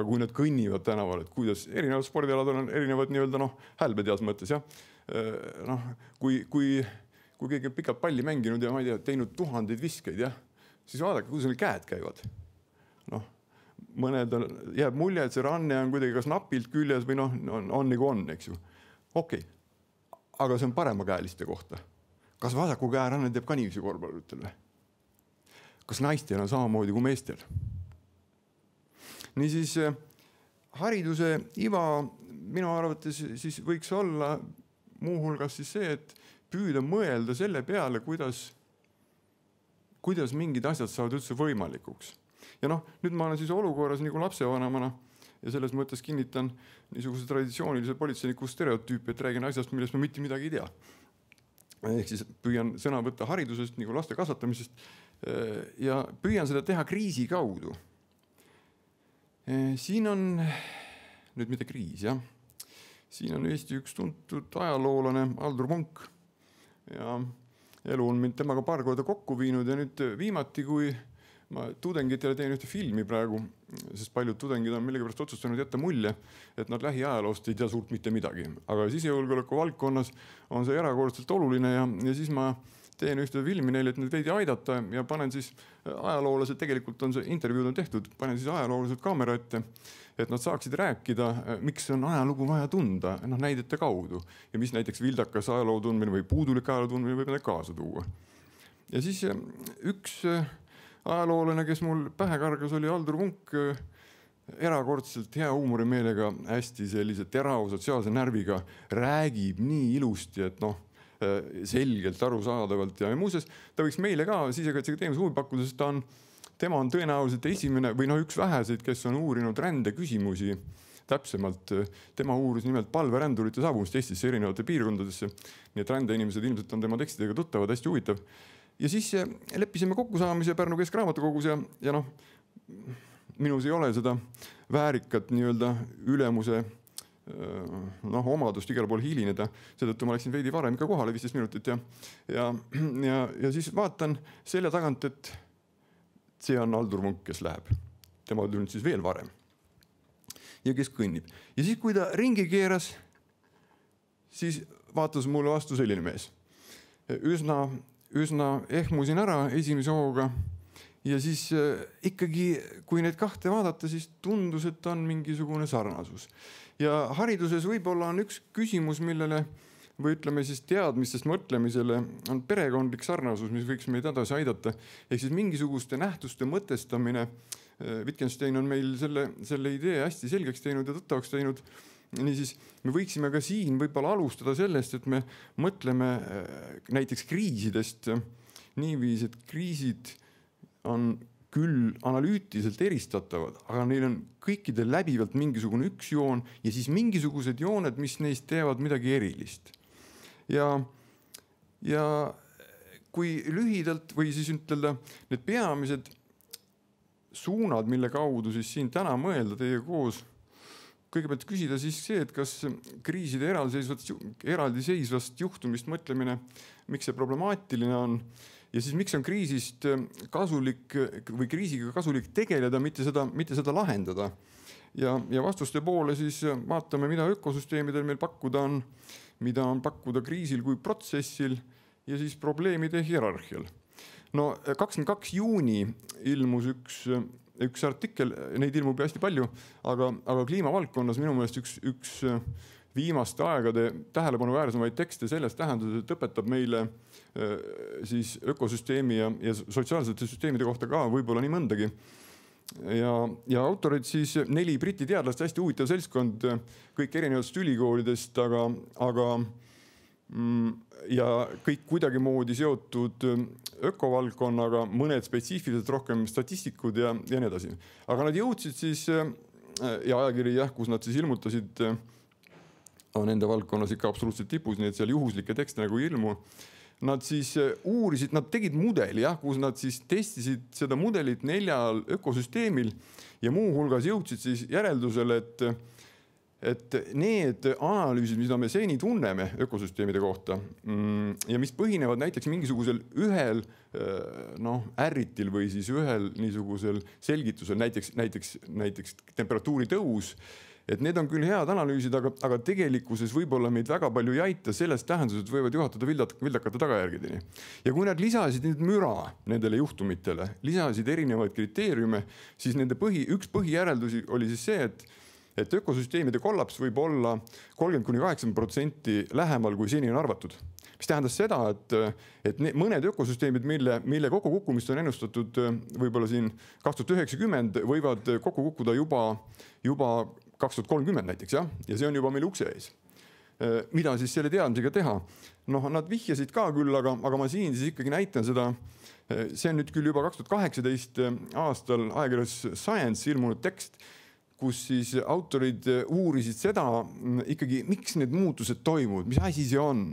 kui nad kõnnivad tänaval, et kuidas erinevad spordialad on erinevad nii-öelda hälbed heas mõttes. Kui keegi on pikalt palli mänginud ja ma ei tea, teinud tuhandeid viskeid, siis vaadake, kuidas neil käed käivad. Mõned jääb mulje, et see ranne on kuidagi kas napilt küljes või on nagu on, eks ju. Okei, aga see on paremakäeliste kohta. Kas vasaku käe ranne teeb ka niivisi korvpalluritel? Kas naistel on samamoodi kui meestel? Niisiis, hariduse iva minu arvates siis võiks olla muuhulgas siis see, et püüda mõelda selle peale, kuidas mingid asjad saavad üldse võimalikuks. Ja nüüd ma olen siis olukorras nagu lapsevanemana ja selles mõttes kinnitan niisuguse traditsioonilise politseiniku stereotüüpi, et räägin asjast, millest ma mitte midagi ei tea. ehk siis püüan sõna võtta haridusest nagu laste kasvatamisest ja püüan seda teha kriisi kaudu. Siin on nüüd mitte kriis, jah. Siin on Eesti üks tuntud ajaloolane Aldur Munk ja elu on mind temaga paar korda kokku viinud ja nüüd viimati, kui ma tudengitele teen ühte filmi praegu, sest paljud tudengid on millegipärast otsustanud jätta mulje, et nad lähiajaloost ei tea suurt mitte midagi. Aga sisejulgeoleku valdkonnas on see erakordselt oluline ja siis ma teen ühte filmi neile, et neid veidi aidata ja panen siis ajaloolased, tegelikult on see intervjuud on tehtud, panen siis ajaloolased kaamera ette, et nad saaksid rääkida, miks on ajalugu vaja tunda näidete kaudu ja mis näiteks vildakas ajaloo tundmine või puudulik ajaloo tundmine võib need kaasa tuua. Ja siis üks ajaloolane, kes mul pähe kargas, oli Aldur Munk, erakordselt hea huumorimeelega, hästi sellise terava sotsiaalse närviga, räägib nii ilusti, et selgelt arusaadavalt ja muuseas ta võiks meile ka Sisekaitseakadeemias huvi pakkuda, sest tema on tõenäoliselt esimene või üks väheseid, kes on uurinud rände küsimusi täpsemalt. Tema uuris nimelt palverändurite saabumist Eestisse erinevate piirkondadesse, nii et rändeinimesed ilmselt on tema tekstidega tuttavad, hästi huvitav. Ja siis leppisime kokkusaamise Pärnu Keskraamatukogus ja minus ei ole seda väärikat nii-öelda ülemuse omadust igal pool hilineda, seetõttu ma läksin veidi varem ka kohale 15 minutit ja siis vaatan selle tagant, et see on Aldur Munk, kes läheb. Tema tulnud siis veel varem ja kes kõnnib. Ja siis, kui ta ringi keeras, siis vaatas mulle vastu selline mees. Üsna ehmusin ära esimese hooga ja siis ikkagi, kui neid kahte vaadata, siis tundus, et on mingisugune sarnasus. Ja hariduses võib-olla on üks küsimus, millele või ütleme siis teadmistest mõtlemisele on perekondlik sarnasus, mis võiks meid edasi aidata. Ehk siis mingisuguste nähtuste mõtestamine. Wittgenstein on meil selle idee hästi selgeks teinud ja tõttavaks teinud. Niisiis me võiksime ka siin võib-olla alustada sellest, et me mõtleme näiteks kriisidest niiviisi, et kriisid on küll analüütiliselt eristatavad, aga neil on kõikidel läbivalt mingisugune üks joon ja siis mingisugused jooned, mis neist teevad midagi erilist. Ja kui lühidalt või siis ütelda need peamised suunad, mille kaudu siis siin täna mõelda teie koos, kõigepealt küsida siis see, et kas kriiside eraldiseisvast juhtumist mõtlemine, miks see problemaatiline on ja siis miks on kriisist kasulik või kriisiga kasulik tegeleda, mitte seda lahendada. Ja vastuste poole siis vaatame, mida ökosüsteemidel meil pakkuda on, mida on pakkuda kriisil kui protsessil ja siis probleemide hierarhial. 22. juuni ilmus üks artikkel, neid ilmub hästi palju, aga kliimavaldkonnas minu meelest üks viimaste aegade tähelepanuväärsemaid tekste selles tähenduses, et õpetab meile siis ökosüsteemi ja sotsiaalsete süsteemide kohta ka võib-olla nii mõndagi. Ja autorid siis 4 Briti teadlast, hästi huvitav seltskond, kõik erinevatest ülikoolidest, ja kõik kuidagimoodi seotud ökovaldkonnaga, mõned spetsiifiliselt rohkem statistikud ja nii edasi. Aga nad jõudsid siis, ja ajakiri, kus nad siis ilmutasid, on enda valdkonnas ikka absoluutselt tipus, nii et seal juhuslikke tekste nagu ilmu. Nad siis uurisid, nad tegid mudeli, kus nad siis testisid seda mudelit 4 ökosüsteemil ja muu hulgas jõudsid siis järeldusele, et need analüüsid, mida me seni tunneme ökosüsteemide kohta ja mis põhinevad näiteks mingisugusel ühel ärritil või siis ühel niisugusel selgitusel, näiteks temperatuuri tõus, et need on küll head analüüsid, aga tegelikkuses võib-olla meid väga palju ei aita selles tähenduses, et võivad juhatada vildakate tagajärgedeni. Ja kui nad lisasid nüüd müra nendele juhtumitele, lisasid erinevaid kriteeriume, siis nende üks põhijäreldusi oli siis see, et ökosüsteemide kollaps võib olla 30–80% lähemal, kui seni on arvatud. Mis tähendas seda, et mõned ökosüsteemid, mille kokkukukkumist on ennustatud võib-olla siin 2090, võivad kokku kukkuda juba 2030 näiteks, ja see on juba meil ukse ees. Mida siis selle teadmisega teha? Nad vihjasid ka küll, aga ma siin siis ikkagi näitan seda. See on nüüd küll juba 2018 aastal ajakirjas Science ilmunud tekst, kus siis autorid uurisid seda ikkagi, miks need muutused toimuvad, mis asi see on.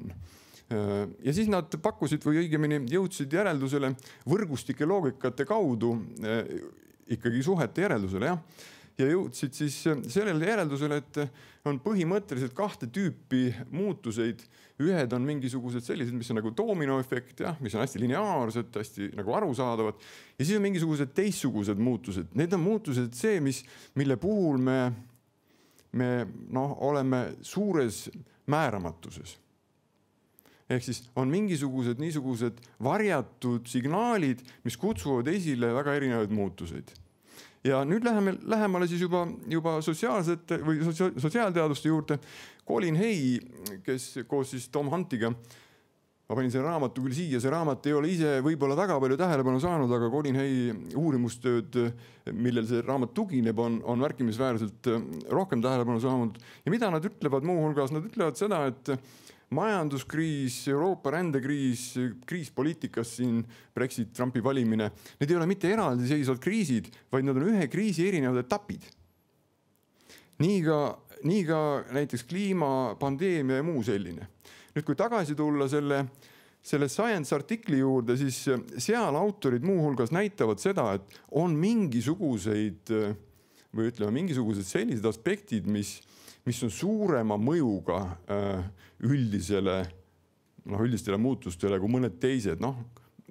Ja siis nad pakkusid või õigemini jõudsid järeldusele võrgustike loogikate kaudu ikkagi suhete järeldusele, jah. Ja jõudsid siis sellele järeldusele, et on põhimõtteliselt 2 tüüpi muutuseid. Ühed on mingisugused sellised, mis on nagu dominoefekt, jah, mis on hästi lineaarsed, hästi nagu arusaadavad. Ja siis on mingisugused teistsugused muutused. Need on muutused see, mille puhul me oleme suures määramatuses. Ehk siis on mingisugused niisugused varjatud signaalid, mis kutsuvad esile väga erinevaid muutuseid. Ja nüüd läheme lähemale siis juba sotsiaalsete või sotsiaalteaduste juurde. Colin Hay, kes koos siis Tom Huntiga, ma panin selle raamatu küll siia, see raamat ei ole ise võib-olla väga palju tähelepanu saanud, aga Colin Hay uurimustööd, millel see raamat tugineb, on märkimisväärselt rohkem tähelepanu saanud. Ja mida nad ütlevad muuhulgas? Nad ütlevad seda, et majanduskriis, Euroopa rändekriis, kriis poliitikas siin, Brexit, Trumpi valimine, need ei ole mitte eraldiseisvad kriisid, vaid nad on ühe kriisi erinevad etapid. Nii ka näiteks kliima, pandeemia ja muu selline. Nüüd, kui tagasi tulla selle Science artikli juurde, siis seal autorid muuhulgas näitavad seda, et on mingisugused sellised aspektid, mis on suurema mõjuga üldistele muutustele kui mõned teised.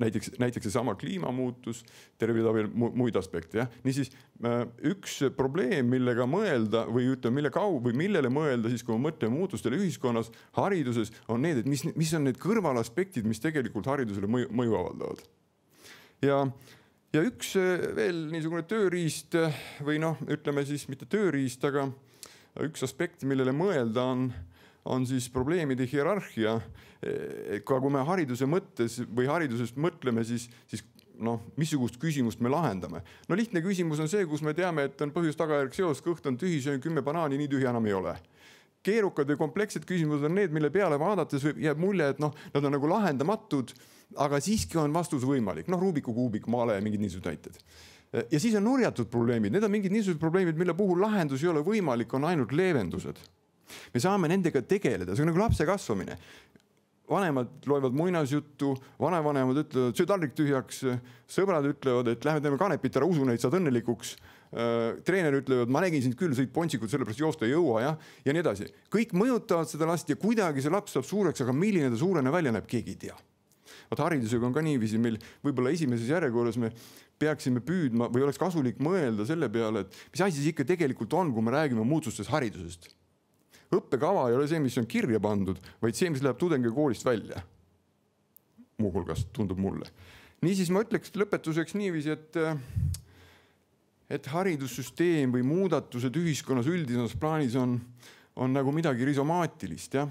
Näiteks seesama kliimamuutus, terve veel muid aspekte. Ja? Niisiis, üks probleem, millega mõelda või millele mõelda siis, kui me mõtleme muutustele ühiskonnas, hariduses, on need, et mis on need kõrvalaspektid, mis tegelikult haridusele mõju avaldavad. Ja üks veel niisugune tööriist või ütleme siis mitte tööriist, aga üks aspekt, millele mõelda on siis probleemide hierarhia. Ka kui me hariduse mõttes või haridusest mõtleme, siis missugust küsimust me lahendame. Lihtne küsimus on see, kus me teame, et on põhjus-tagajärg seos, kõht on tühi, söön 10 banaani, nii tühi enam ei ole. Keerukad ja komplekssed küsimused on need, mille peale vaadates jääb mulje, et nad on nagu lahendamatud, aga siiski on vastus võimalik. Rubiku kuubik, male ja mingid niisugused näited. Ja siis on nurjatud probleemid. Need on mingid niisugused probleemid, mille puhul lahendus ei ole võimalik, on ainult leevendused. Me saame nendega tegeleda, see on nagu lapse kasvamine. Vanemad loevad muinasjuttu, vanavanemad ütlevad, söö taldrik tühjaks, sõbrad ütlevad, et lähme teeme kanepit ära, usu neid, saad õnnelikuks. Treener ütlevad, ma nägin sind küll, sõid pontsikud, sellepärast joosta ei jõua ja nii edasi. Kõik mõjutavad seda last ja kuidagi see laps saab suureks, aga milline ta suurena välja näeb, keegi ei tea. Haridusega on ka niiviisi, meil võib-olla esimeses järjekorras me peaksime püüdma või oleks kasulik mõelda selle peale, et mis asi siis ikka tegelikult on, kui me räägime muutustest haridusest. Õppekava ei ole see, mis on kirja pandud, vaid see, mis läheb tudengi koolist välja. Muuhulgas tundub mulle. Niisiis ma ütleks lõpetuseks niiviisi, et haridussüsteem või muudatused ühiskonnas üldises plaanis on nagu midagi risomaatilist, ja?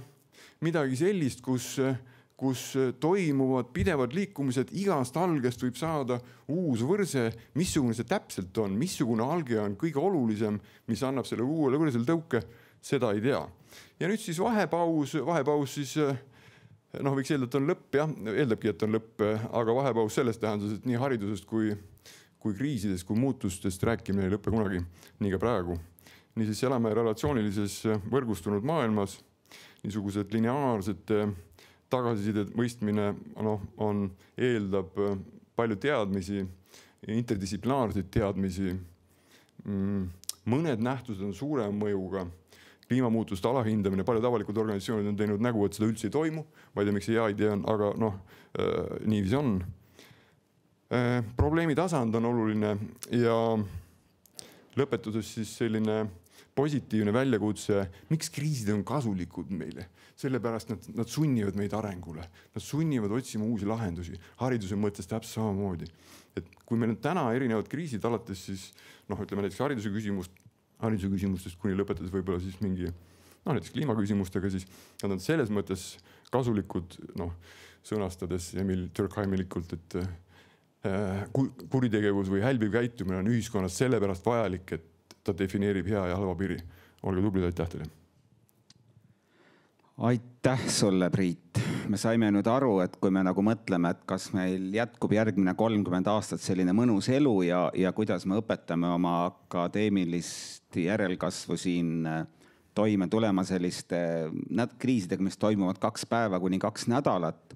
Midagi sellist, kus toimuvad pidevad liikumised, igast algest võib saada uus võrse, missugune see täpselt on, missugune alge on kõige olulisem, mis annab selle uuele võrsel tõuke, seda ei tea. Ja nüüd siis vahepaus siis, võiks eeldada, et on lõpp, jah, eeldabki, et on lõpp, aga vahepaus selles tähenduses, et nii haridusest kui kriisidest, kui muutustest rääkimine ei lõppe kunagi, nii ka praegu. Niisiis elame relatsioonilises võrgustunud maailmas, niisugused lineaarsed tagasisidet mõistmine eeldab palju teadmisi, interdistsiplinaarseid teadmisi. Mõned nähtused on suurema mõjuga. Kliimamuutuste alahindamine, paljud avalikud organisatsioonid on teinud nägu, et seda üldse ei toimu. Ma ei tea, miks see hea idee on, aga niiviisi on. Probleemi tasand on oluline ja lõpetuses siis selline positiivne väljakutse, miks kriisid on kasulikud meile. Sellepärast nad sunnivad meid arengule. Nad sunnivad otsima uusi lahendusi. Hariduse mõttes täpselt samamoodi. Et kui meil on täna erinevad kriisid alates siis, ütleme näiteks hariduse küsimustest kuni lõpetades võib-olla siis mingi, näiteks kliimaküsimustega, siis nad on selles mõttes kasulikud, sõnastades Emil Durkheimilikult, et kuritegevus või hälbiv käitumine on ühiskonnas sellepärast vajalik, et ta defineerib hea ja halva piiri. Olge tublid, aitäh teile. Aitäh sulle, Priit. Me saime nüüd aru, et kui me nagu mõtleme, et kas meil jätkub järgmine 30 aastat selline mõnus elu ja kuidas me õpetame oma akadeemilist järelkasvu siin toime tulema selliste kriisidega, mis toimuvad 2 päeva kuni 2 nädalat.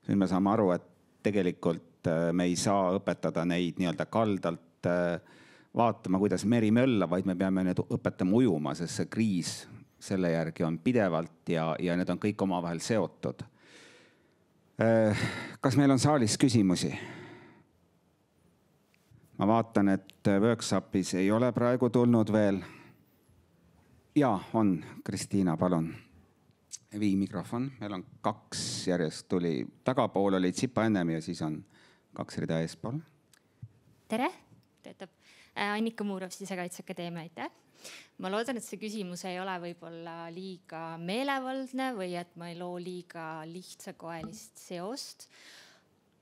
Nüüd me saame aru, et tegelikult me ei saa õpetada neid nii-öelda kaldalt vaatama, kuidas meri mölla, vaid me peame need õpetama ujuma, sest see kriis selle järgi on pidevalt ja need on kõik omavahel seotud. Kas meil on saalis küsimusi? Ma vaatan, et workshopis ei ole praegu tulnud veel. Jaa, on. Kristiina, palun. Vii mikrofon. Meil on 2 järjest tuli. Tagapool oli Tsipa ennem ja siis on 2 rida eespool. Tere, töötab Annika Muurov, Sisekaitseakadeemia, aitäh. Ma loodan, et see küsimus ei ole võib-olla liiga meelevaldne või et ma ei loo liiga lihtsakoelist seost.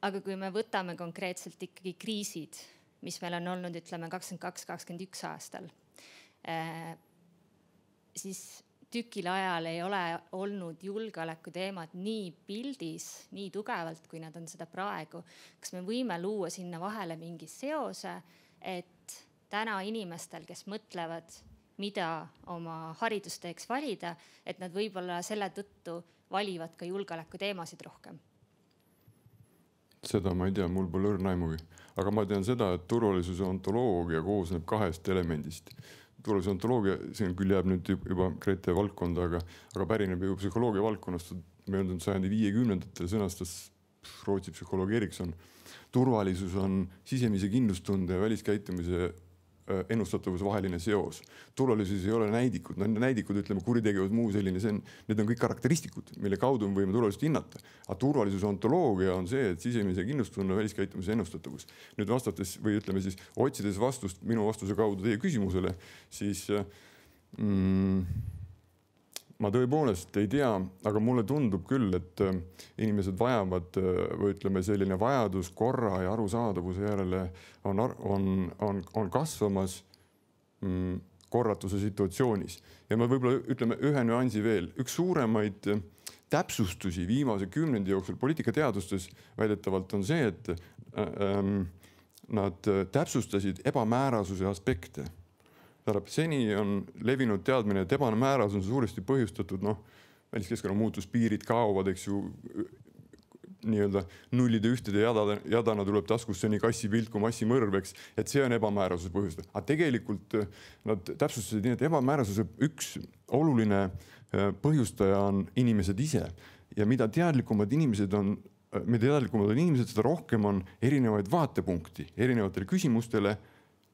Aga kui me võtame konkreetselt ikkagi kriisid, mis meil on olnud, ütleme, 22-21 aastal, siis tükil ajal ei ole olnud julgeoleku teemad nii pildis, nii tugevalt, kui nad on seda praegu. Kas me võime luua sinna vahele mingi seose, et täna inimestel, kes mõtlevad, mida oma haridusteeks valida, et nad võib-olla selle tõttu valivad ka julgeoleku teemasid rohkem? Seda ma ei tea, mul pole õrna aimugi. Aga ma tean seda, et turvalisuse ontoloogia koosneb 2 elemendist. Turvalisuse ontoloogia, see küll jääb nüüd juba Grete valdkonda, aga pärineb juba psühholoogia valdkonnast. Möödunud sajandi 50-ndatel sõnastas Rootsi psühholoog Erikson. Turvalisus on sisemise kindlustunde ja väliskäitumise ennustatavuse vaheline seos. Turvalisus ei ole näidikud. Näidikud, ütleme, kuritegevus, muu selline, need on kõik karakteristikud, mille kaudu me võime turvalisust hinnata. Aga turvalisuse ontoloogia on see, et sisemise kindlustunne, väliskäitumise ennustatavus. Nüüd vastates või ütleme siis otsides vastust minu vastuse kaudu teie küsimusele, siis ma tõepoolest ei tea, aga mulle tundub küll, et inimesed vajavad või ütleme selline vajadus korra ja arusaadavuse järele on kasvamas korratuse situatsioonis. Ja ma võib-olla ütleme ühe nüansi veel. Üks suuremaid täpsustusi viimase 10 jooksul poliitikateadustes väidetavalt on see, et nad täpsustasid ebamäärasuse aspekte. Seni on levinud teadmine, et ebamääras on suuresti põhjustatud, väliskeskkonna muutus, piirid kaovad, eks ju, nii-öelda nullide ühtede jadana tuleb taskusse nii kassi pilt kui massimõrv, eks, et see on ebamäärasuse põhjustatud. Aga tegelikult nad täpsustasid nii, et ebamäärasuse üks oluline põhjustaja on inimesed ise. Ja mida teadlikumad inimesed on, seda rohkem on erinevaid vaatepunkti, erinevatele küsimustele,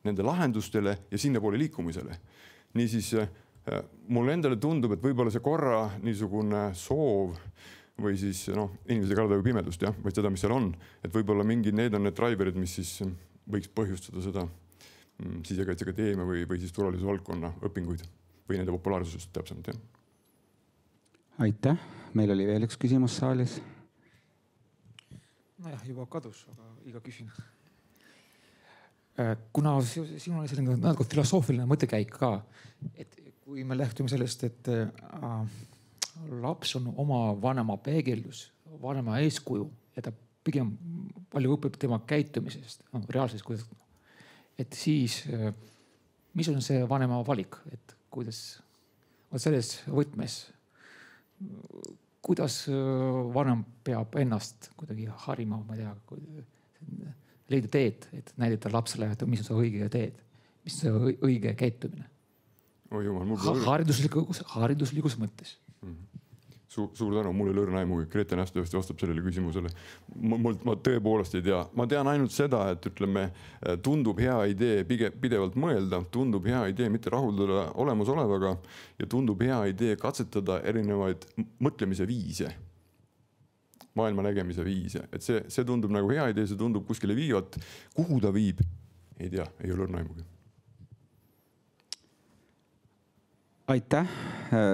nende lahendustele ja sinna poole liikumisele. Niisiis, mulle endale tundub, et võib-olla see korra niisugune soov või siis inimesed ei karda ju pimedust, või seda, mis seal on. Et võib-olla mingid need on need driverid, mis siis võiks põhjustada seda Sisekaitseakadeemia või siis turvalisuse valdkonna õpinguid või nende populaarsusest täpsemalt. Aitäh. Meil oli veel üks küsimus saalis. Nojah, juba kadus, aga iga küsin. Kuna sinul on selline natuke filosoofiline mõttekäik ka, et kui me lähtume sellest, et laps on oma vanema peegeldus, vanema eeskuju ja ta pigem palju õpib tema käitumisest, reaalses, kuidas, et siis mis on see vanema valik, et kuidas selles võtmes, kuidas vanem peab ennast kuidagi harima, ma ei tea, leida teed, et näidata lapsele, et mis on see õige teed, mis on see õige käitumine. Hariduslikus mõttes. Suur tänu, mul ei lõrna aimugi. Grete nähtavasti vastab sellele küsimusele. Ma tõepoolest ei tea. Ma tean ainult seda, et ütleme, tundub hea idee pidevalt mõelda, tundub hea idee mitte rahuldada olemasolevaga ja tundub hea idee katsetada erinevaid mõtlemise viise. Maailma nägemise viise. Et see tundub nagu hea idee, see tundub kuskile viivat. Kuhu ta viib? Ei tea, ei ole õrnaimugi. Aitäh.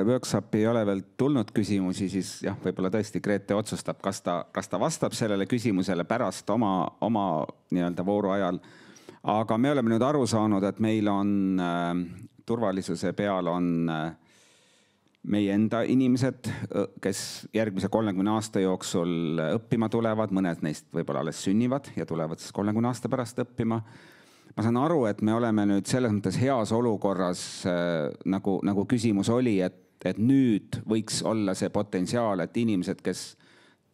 Workshop ei ole veel tulnud küsimusi, siis jah, võib-olla tõesti Grete otsustab, kas ta vastab sellele küsimusele pärast oma nii-öelda vooru ajal. Aga me oleme nüüd aru saanud, et meil on turvalisuse peal on meie enda inimesed, kes järgmise 30 aasta jooksul õppima tulevad, mõned neist võib-olla alles sünnivad ja tulevad siis 30 aasta pärast õppima. ma saan aru, et me oleme nüüd selles mõttes heas olukorras, nagu küsimus oli, et nüüd võiks olla see potentsiaal, et inimesed, kes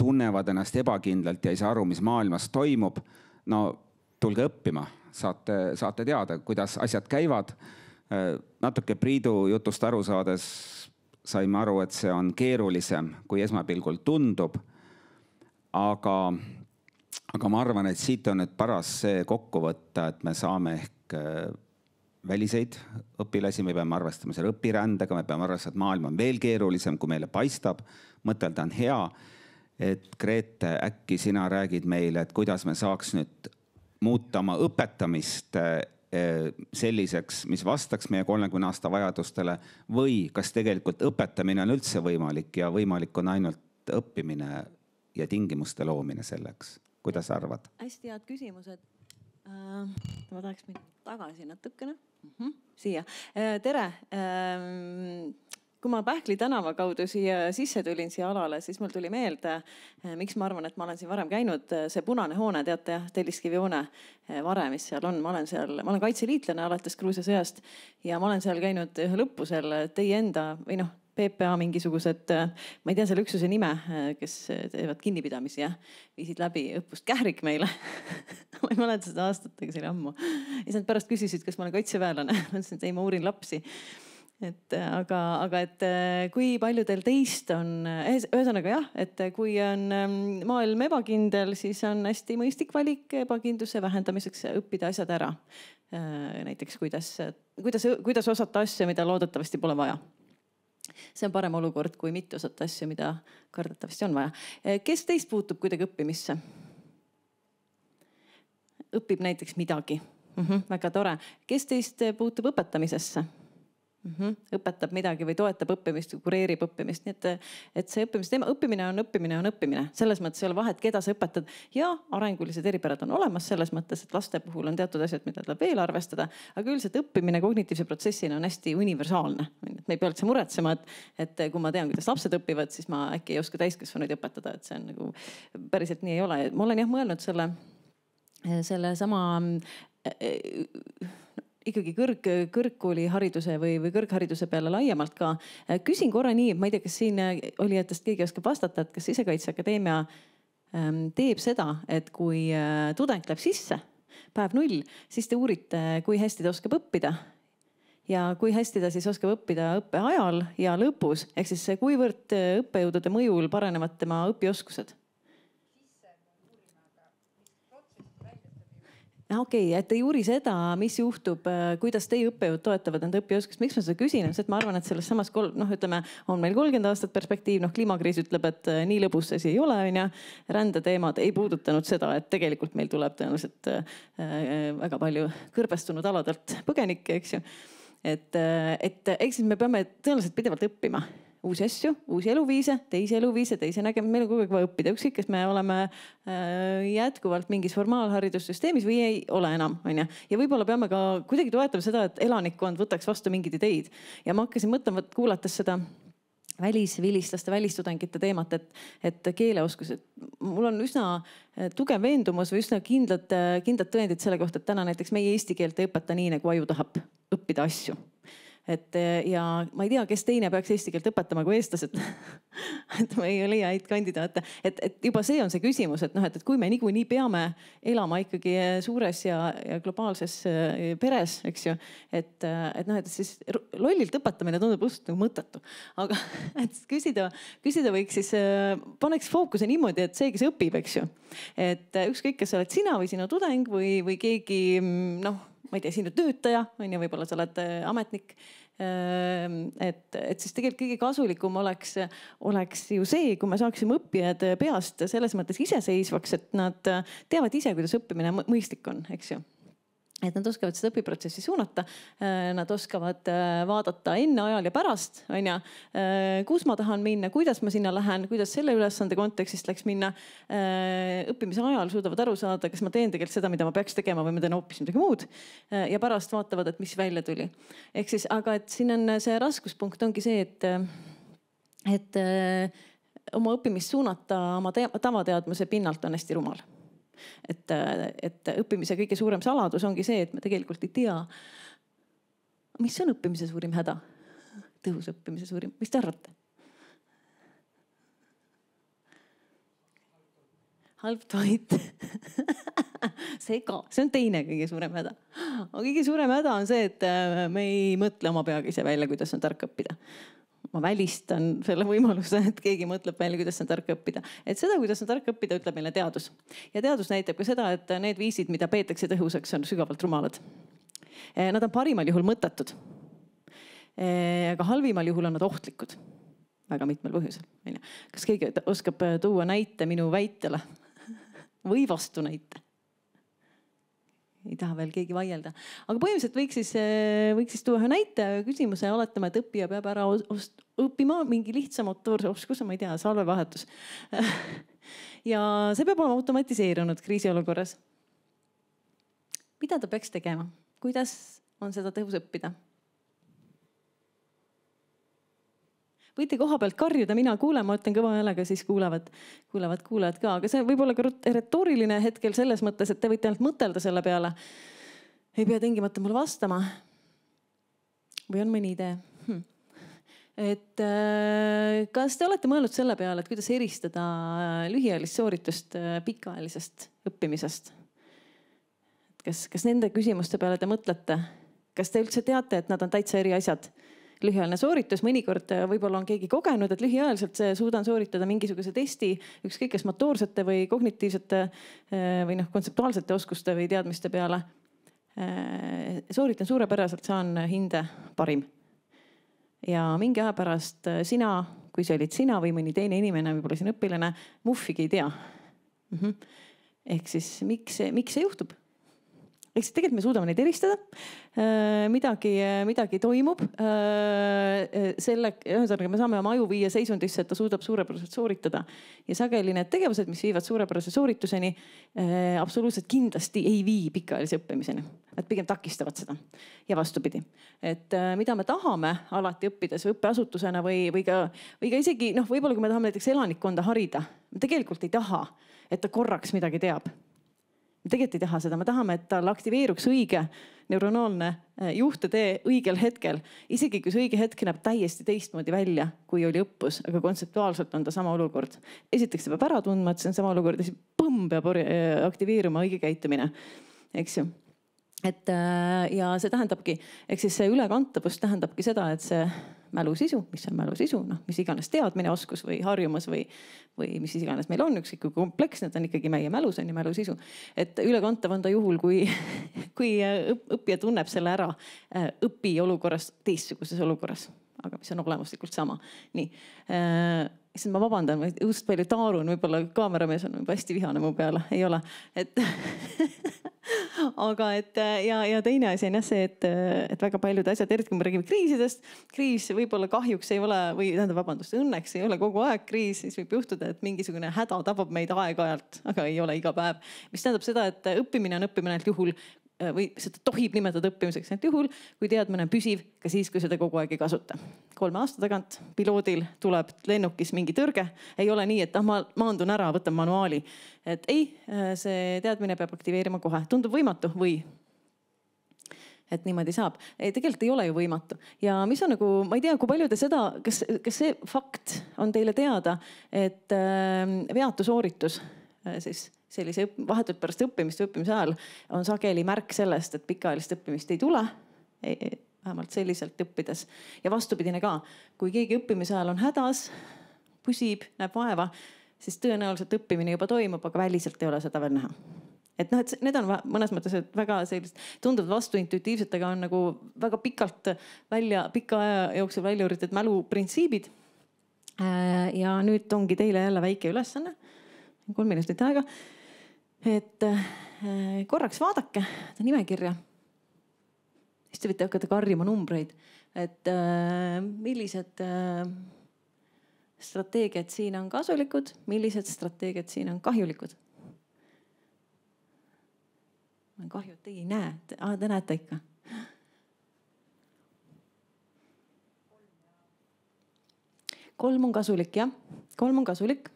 tunnevad ennast ebakindlalt ja ei saa aru, mis maailmas toimub, no tulge õppima, saate teada, kuidas asjad käivad. Natuke Priidu jutust aru saades saime aru, et see on keerulisem, kui esmapilgul tundub. Aga ma arvan, et siit on nüüd paras see kokku võtta, et me saame ehk väliseid õpilasi, me peame arvestama selle õpirändega, me peame arvestama, et maailm on veel keerulisem, kui meile paistab. Mõtelda on hea, et Grete, äkki sina räägid meile, et kuidas me saaks nüüd muuta oma õpetamist selliseks, mis vastaks meie 30 aasta vajadustele või kas tegelikult õpetamine on üldse võimalik ja võimalik on ainult õppimine ja tingimuste loomine selleks. Kuidas arvad? Hästi head küsimused. Ma tahaks minna tagasi natukene. Siia. Tere. Kui ma Pähkli tänava kaudu siia sisse tulin siia alale, siis mul tuli meelde, miks ma arvan, et ma olen siin varem käinud. See punane hoone, teate, Telliskivi hoone vare, mis seal on. Ma olen kaitseliitlane alates Gruusia sõjast ja ma olen seal käinud ühe lõppusel teie enda või PPA mingisugused, ma ei tea selle üksuse nime, kes teevad kinnipidamisi ja viisid läbi õppust Kährik meile. Ma ei mäleta seda aastatega, see oli ammu. Ja siis nad pärast küsisid, kas ma olen kaitseväelane. Ma ütlesin, et ei, ma uurin lapsi. Aga et kui paljudel teist on, ühesõnaga jah, et kui on maailm ebakindel, siis on hästi mõistlik valik ebakindluse vähendamiseks õppida asjad ära. Näiteks kuidas osata asju, mida loodetavasti pole vaja. See on parem olukord, kui mitte osata asju, mida kardetavasti on vaja. Kes teist puutub kuidagi õppimisse? Õpib näiteks midagi. Väga tore. Kes teist puutub õpetamisesse? Õpetab midagi või toetab õppimist, kureerib õppimist. Nii et see õppimine on õppimine. Selles mõttes ei ole vahet, keda sa õpetad. Ja arengulised eripärad on olemas selles mõttes, et laste puhul on teatud asjad, mida tuleb veel arvestada. Aga üldiselt õppimine kognitiivse protsessina on hästi universaalne. Me ei pea üldse muretsema, et kui ma tean, kuidas lapsed õpivad, siis ma äkki ei oska täiskasvanuid õpetada. Et see on nagu päriselt nii ei ole. Ma olen jah mõelnud selle sama ikkagi kõrgkoolihariduse või kõrghariduse peale laiemalt ka. Küsin korra nii, ma ei tea, kas siin olijatest keegi oskab vastata, et kas Sisekaitseakadeemia teeb seda, et kui tudeng läheb sisse, päev 0, siis te uurite, kui hästi ta oskab õppida ja kui hästi ta siis oskab õppida õppe ajal ja lõpus, ehk siis kuivõrd õppejõudude mõjul paranevad tema õpioskused. Okei, et ei uuri seda, mis juhtub, kuidas teie õppejõud toetavad enda õpioskust. Miks ma seda küsin? Et ma arvan, et selles samas, ütleme, on meil 30 aastat perspektiiv. Kliimakriis ütleb, et nii lõbus see ei ole. Rändeteemad ei puudutanud seda, et tegelikult meil tuleb tõenäoliselt väga palju kõrbestunud aladelt põgenikke, eks ju. Et eks me peame tõenäoliselt pidevalt õppima. Uusi asju, uusi eluviise, teisi nägema. Meil on kogu aeg vaja õppida. Ükskõik, kas me oleme jätkuvalt mingis formaalharidussüsteemis või ei ole enam. Ja võib-olla peame ka kuidagi toetama seda, et elanikkond võtaks vastu mingid ideid. Ja ma hakkasin mõtlema, kuulates seda välisvilistlaste, välistudengite teemat, et keeleoskused. Mul on üsna tugev veendumus või üsna kindlad tõendid selle kohta, et täna näiteks meie eesti keelt ei õpeta nii, nagu aju tahab õppida asju. Ja ma ei tea, kes teine peaks eesti keelt õpetama kui eestlased. Et ma ei leia häid kandidaate. Et juba see on see küsimus, et kui me niikuinii peame elama ikkagi suures ja globaalses peres, eks ju. Et siis lollilt õpetamine tundub just nagu mõttetu. Aga et küsida võiks siis, paneks fookuse niimoodi, et see, kes õpib, eks ju. Et ükskõik, kas oled sina või sinu tudeng või keegi, ma ei tea, sinu töötaja, võib-olla sa oled ametnik. Et siis tegelikult kõige kasulikum oleks ju see, kui me saaksime õppijad peast selles mõttes iseseisvaks, et nad teavad ise, kuidas õppimine mõistlik on, eks ju. Et nad oskavad seda õpiprotsessi suunata, nad oskavad vaadata enne, ajal ja pärast, kus ma tahan minna, kuidas ma sinna lähen, kuidas selle ülesande kontekstist läks minna. Õppimise ajal suudavad aru saada, kas ma teen tegelikult seda, mida ma peaks tegema või ma teen hoopis midagi muud. Ja pärast vaatavad, et mis välja tuli. Ehk siis, aga et siin on see raskuspunkt ongi see, et oma õppimist suunata oma tavateadmuse pinnalt on hästi rumal. et õppimise kõige suurem saladus ongi see, et me tegelikult ei tea, mis on õppimise suurim häda, tõhus õppimise suurim, mis te arvate? Halb toit see on teine kõige suurem häda. Aga kõige suurem häda on see, et me ei mõtle oma peaga ise välja, kuidas on tark õppida. Ma välistan selle võimaluse, et keegi mõtleb välja, kuidas on tark õppida. Et seda, kuidas on tark õppida, ütleb meile teadus. Ja teadus näitab ka seda, et need viisid, mida peetakse tõhusaks, on sügavalt rumalad. Nad on parimal juhul mõttetud. Aga halvimal juhul on nad ohtlikud. Väga mitmel põhjusel. Kas keegi oskab tuua näite minu väitele? Või vastu näite? Ei taha veel keegi vaielda. Aga põhimõtteliselt võiks siis tuua ühe näite küsimuse ja oletame, et õppija peab ära õppima mingi lihtsa motoorse oskuse, ma ei tea, salvevahetus. Ja see peab olema automatiseerunud kriisiolukorras. Mida ta peaks tegema? Kuidas on seda tõhus õppida? Võite koha pealt karjuda, mina kuulen, ma ütlen kõva häälega, siis kuulevad ka. Aga see võib olla ka retooriline hetkel selles mõttes, et te võite ainult mõtelda selle peale. Ei pea tingimata mulle vastama. Või on mõni idee? Et kas te olete mõelnud selle peale, et kuidas eristada lühiajalist sooritust pikaajalisest õppimisest? Kas nende küsimuste peale te mõtlete? Kas te üldse teate, et nad on täitsa eri asjad? Lühiajaline sooritus, mõnikord võib-olla on keegi kogenud, et lühiajaliselt suudan sooritada mingisuguse testi, ükskõik kas motoorsete või kognitiivsete või kontseptuaalsete oskuste või teadmiste peale. Sooritan suurepäraselt, saan hinde parim. Ja mingi aja pärast sina, kui see olid sina või mõni teine inimene, võib-olla siin õpilane, muffigi ei tea. Ehk siis miks see juhtub? Ehk siis tegelikult me suudame neid eristada. Midagi toimub. Ühesõnaga me saame oma aju viia seisundisse, et ta suudab suurepäraselt sooritada. Ja sageli need tegevused, mis viivad suurepärase soorituseni, absoluutselt kindlasti ei vii pikaajalise õppimiseni. Nad pigem takistavad seda. Ja vastupidi. Et mida me tahame alati õppides õppeasutusena või ka isegi, võib-olla kui me tahame näiteks elanikkonda harida, me tegelikult ei taha, et ta korraks midagi teab. Me tegelikult ei taha seda, me tahame, et tal aktiveeruks õige neuronaalne juhtetee õigel hetkel. Isegi kui see õige hetk näeb täiesti teistmoodi välja, kui oli õppus, aga kontseptuaalselt on ta sama olukord. Esiteks ta peab ära tundma, et see on sama olukord ja siis peab aktiveeruma õige käitumine. Eks ju? Ja see tähendabki, eks siis see ülekantavus tähendabki seda, et see mälusisu, mis on mälusisu, mis iganes teadmine, oskus või harjumus või mis iganes meil on, ükskõik kui kompleksne, ta on ikkagi meie mälus on ja mälusisu. Et ülekantav on ta juhul, kui õppija tunneb selle ära õpiolukorras teistsuguses olukorras, aga mis on olemuslikult sama. Nii. Issand, ma vabandan, ma just palju taarun, võib-olla kaameramees on hästi vihane mu peale, ei ole. Aga ja teine asi on jah see, et väga paljud asjad, eriti kui me räägime kriisidest, kriis võib-olla kahjuks ei ole, õnneks ei ole kogu aeg kriis, siis võib juhtuda, et mingisugune häda tabab meid aeg-ajalt, aga ei ole iga päev. Mis tähendab seda, et õppimine on õppimine ainult juhul, või seda tohib nimetada õppimiseks ainult juhul, kui teadmine on püsiv, ka siis, kui seda kogu aeg ei kasuta. 3 aasta tagant piloodil tuleb lennukis mingi tõrge. Ei ole nii, et ma maandun ära, võtan manuaali. Et ei, see teadmine peab aktiveerima kohe. Tundub võimatu või? Et niimoodi saab. Tegelikult ei ole ju võimatu. Ja mis on ma ei tea, kui palju te seda, kas see fakt on teile teada, et veatu sooritus siis sellise vahetult pärast õppimist või õppimise ajal on sageli märk sellest, et pikaajalist õppimist ei tule, vähemalt selliselt õppides. Ja vastupidine ka, kui keegi õppimise ajal on hädas, püsib, näeb vaeva, siis tõenäoliselt õppimine juba toimub, aga väliselt ei ole seda veel näha. Et need on mõnes mõttes väga sellist tunduvad vastuintuitiivselt, aga on nagu väga pika aja jooksul välja üritatud mäluprintsiibid. Ja nüüd ongi teile jälle väike ülesanne. 3 minutit aega. Et korraks vaadake ta nimekirja. Siis te võite hakata karjuma numbreid, et millised strateegiad siin on kasulikud, millised strateegiad siin on kahjulikud. Kahju, et teie ei näe. Te näete ikka. 3 on kasulik, jah. 3 on kasulik.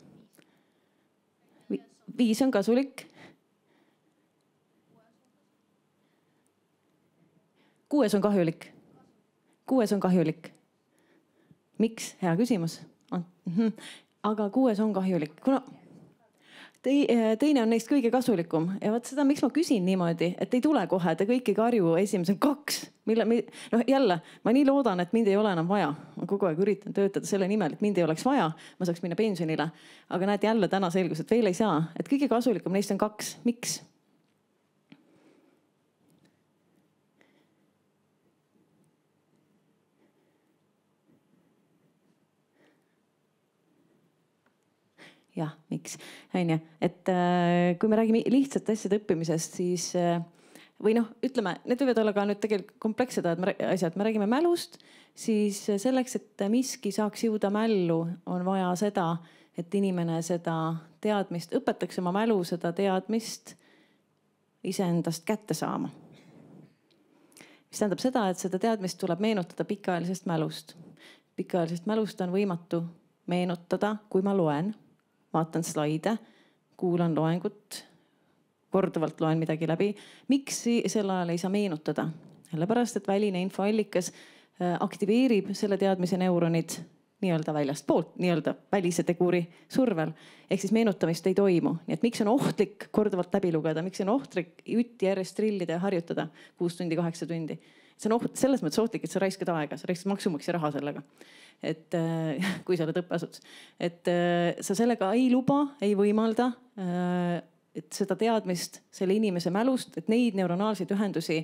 5 on kasulik. 6 on kahjulik. 6 on kahjulik. Miks? Hea küsimus. Aga 6 on kahjulik, kuna teine on neist kõige kasulikum ja vot seda, miks ma küsin niimoodi, et ei tule kohe, te kõik ei karju esimesel 2. Noh jälle, ma nii loodan, et mind ei ole enam vaja. Ma kogu aeg üritan töötada selle nimel, et mind ei oleks vaja. Ma saaks minna pensionile. Aga näed jälle täna selgus, et veel ei saa. Et kõige kasulikum neist on 2. Miks? Jah, miks? Onju, et kui me räägime lihtsate asjade õppimisest, siis või noh, ütleme, need võivad olla ka nüüd tegelikult komplekssed asjad. Me räägime mälust, siis selleks, et miski saaks jõuda mällu, on vaja seda, et inimene seda teadmist õpetaks oma mälu, seda teadmist iseendast kätte saama. Mis tähendab seda, et seda teadmist tuleb meenutada pikaajalisest mälust. Pikaajalisest mälust on võimatu meenutada, kui ma loen. Vaatan slaide, kuulan loengut, korduvalt loen midagi läbi. Miks sel ajal ei saa meenutada? Sellepärast, et väline infoallikas aktiveerib selle teadmise neuronid nii-öelda väljast poolt, nii-öelda välise teguri survel. Ehk siis meenutamist ei toimu. Nii et miks on ohtlik korduvalt läbi lugeda? Miks on ohtlik jutti järjest trillida ja harjutada 6 tundi, 8 tundi? See on selles mõttes ohtlik, et sa raiskad aega, sa raiskad maksumaksja raha sellega. Et kui sa oled õppeasutus, et sa sellega ei luba, ei võimalda, et seda teadmist selle inimese mälust, et neid neuronaalseid ühendusi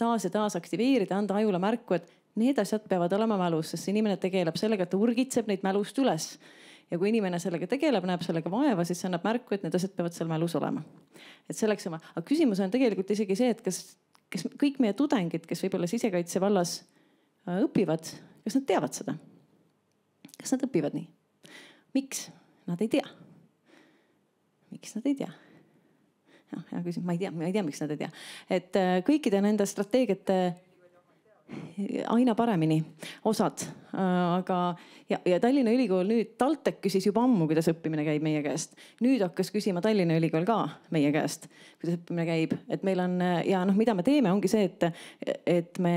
taas ja taas aktiveerida, anda ajule märku, et need asjad peavad olema mälus, sest see inimene tegeleb sellega, et ta urgitseb neid mälust üles. Ja kui inimene sellega tegeleb, näeb sellega vaeva, siis see annab märku, et need asjad peavad seal mälus olema. Et selleks oma, aga küsimus on tegelikult isegi see, et kas kõik meie tudengid, kes võib-olla sisekaitse vallas õpivad, kas nad teavad seda? Kas nad õpivad nii? Miks? Nad ei tea. Miks nad ei tea? Hea küsimus, ma ei tea, miks nad ei tea. Et kõikide nende strateegiate aina paremini osad. Aga ja Tallinna Ülikool nüüd, TalTech küsis juba ammu, kuidas õppimine käib meie käest. Nüüd hakkas küsima Tallinna Ülikool ka meie käest, kuidas õppimine käib. Et meil on ja noh, mida me teeme, ongi see, et me